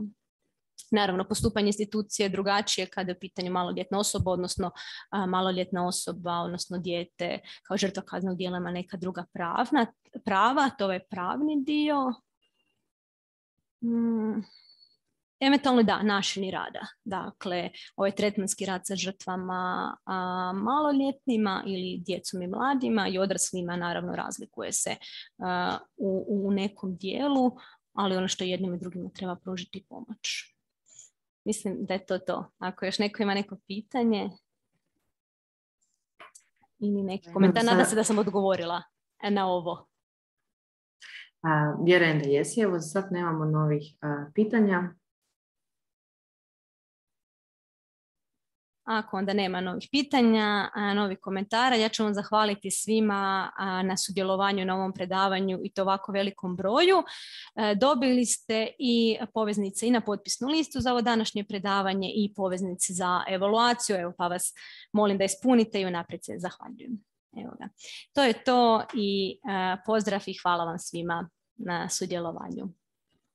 Naravno, postupanje institucije je drugačije kada je u pitanju maloljetna osoba, odnosno a, maloljetna osoba, odnosno dijete kao žrtva kaznenog djela ima neka druga pravna, prava, to je pravni dio. Hmm. eventualno da, načini rada. Dakle, ovaj tretmanski rad sa žrtvama a, maloljetnima ili djecom i mladima i odraslima naravno razlikuje se a, u, u nekom dijelu, ali ono što jednim i drugima treba pružiti pomoć. Mislim da je to to. Ako još neko ima neko pitanje ili neki komentar, nadam se da sam odgovorila na ovo. A, vjerujem da jesi. Evo sad nemamo novih a, pitanja. Ako onda nema novih pitanja, a, novih komentara, ja ću vam zahvaliti svima a, na sudjelovanju na ovom predavanju i to ovako velikom broju. E, dobili ste i poveznice i na potpisnu listu za ovo današnje predavanje i poveznice za evaluaciju, evo pa vas molim da ispunite i unaprijed se zahvaljujem. Evo ga. To je to i a, pozdrav i hvala vam svima na sudjelovanju.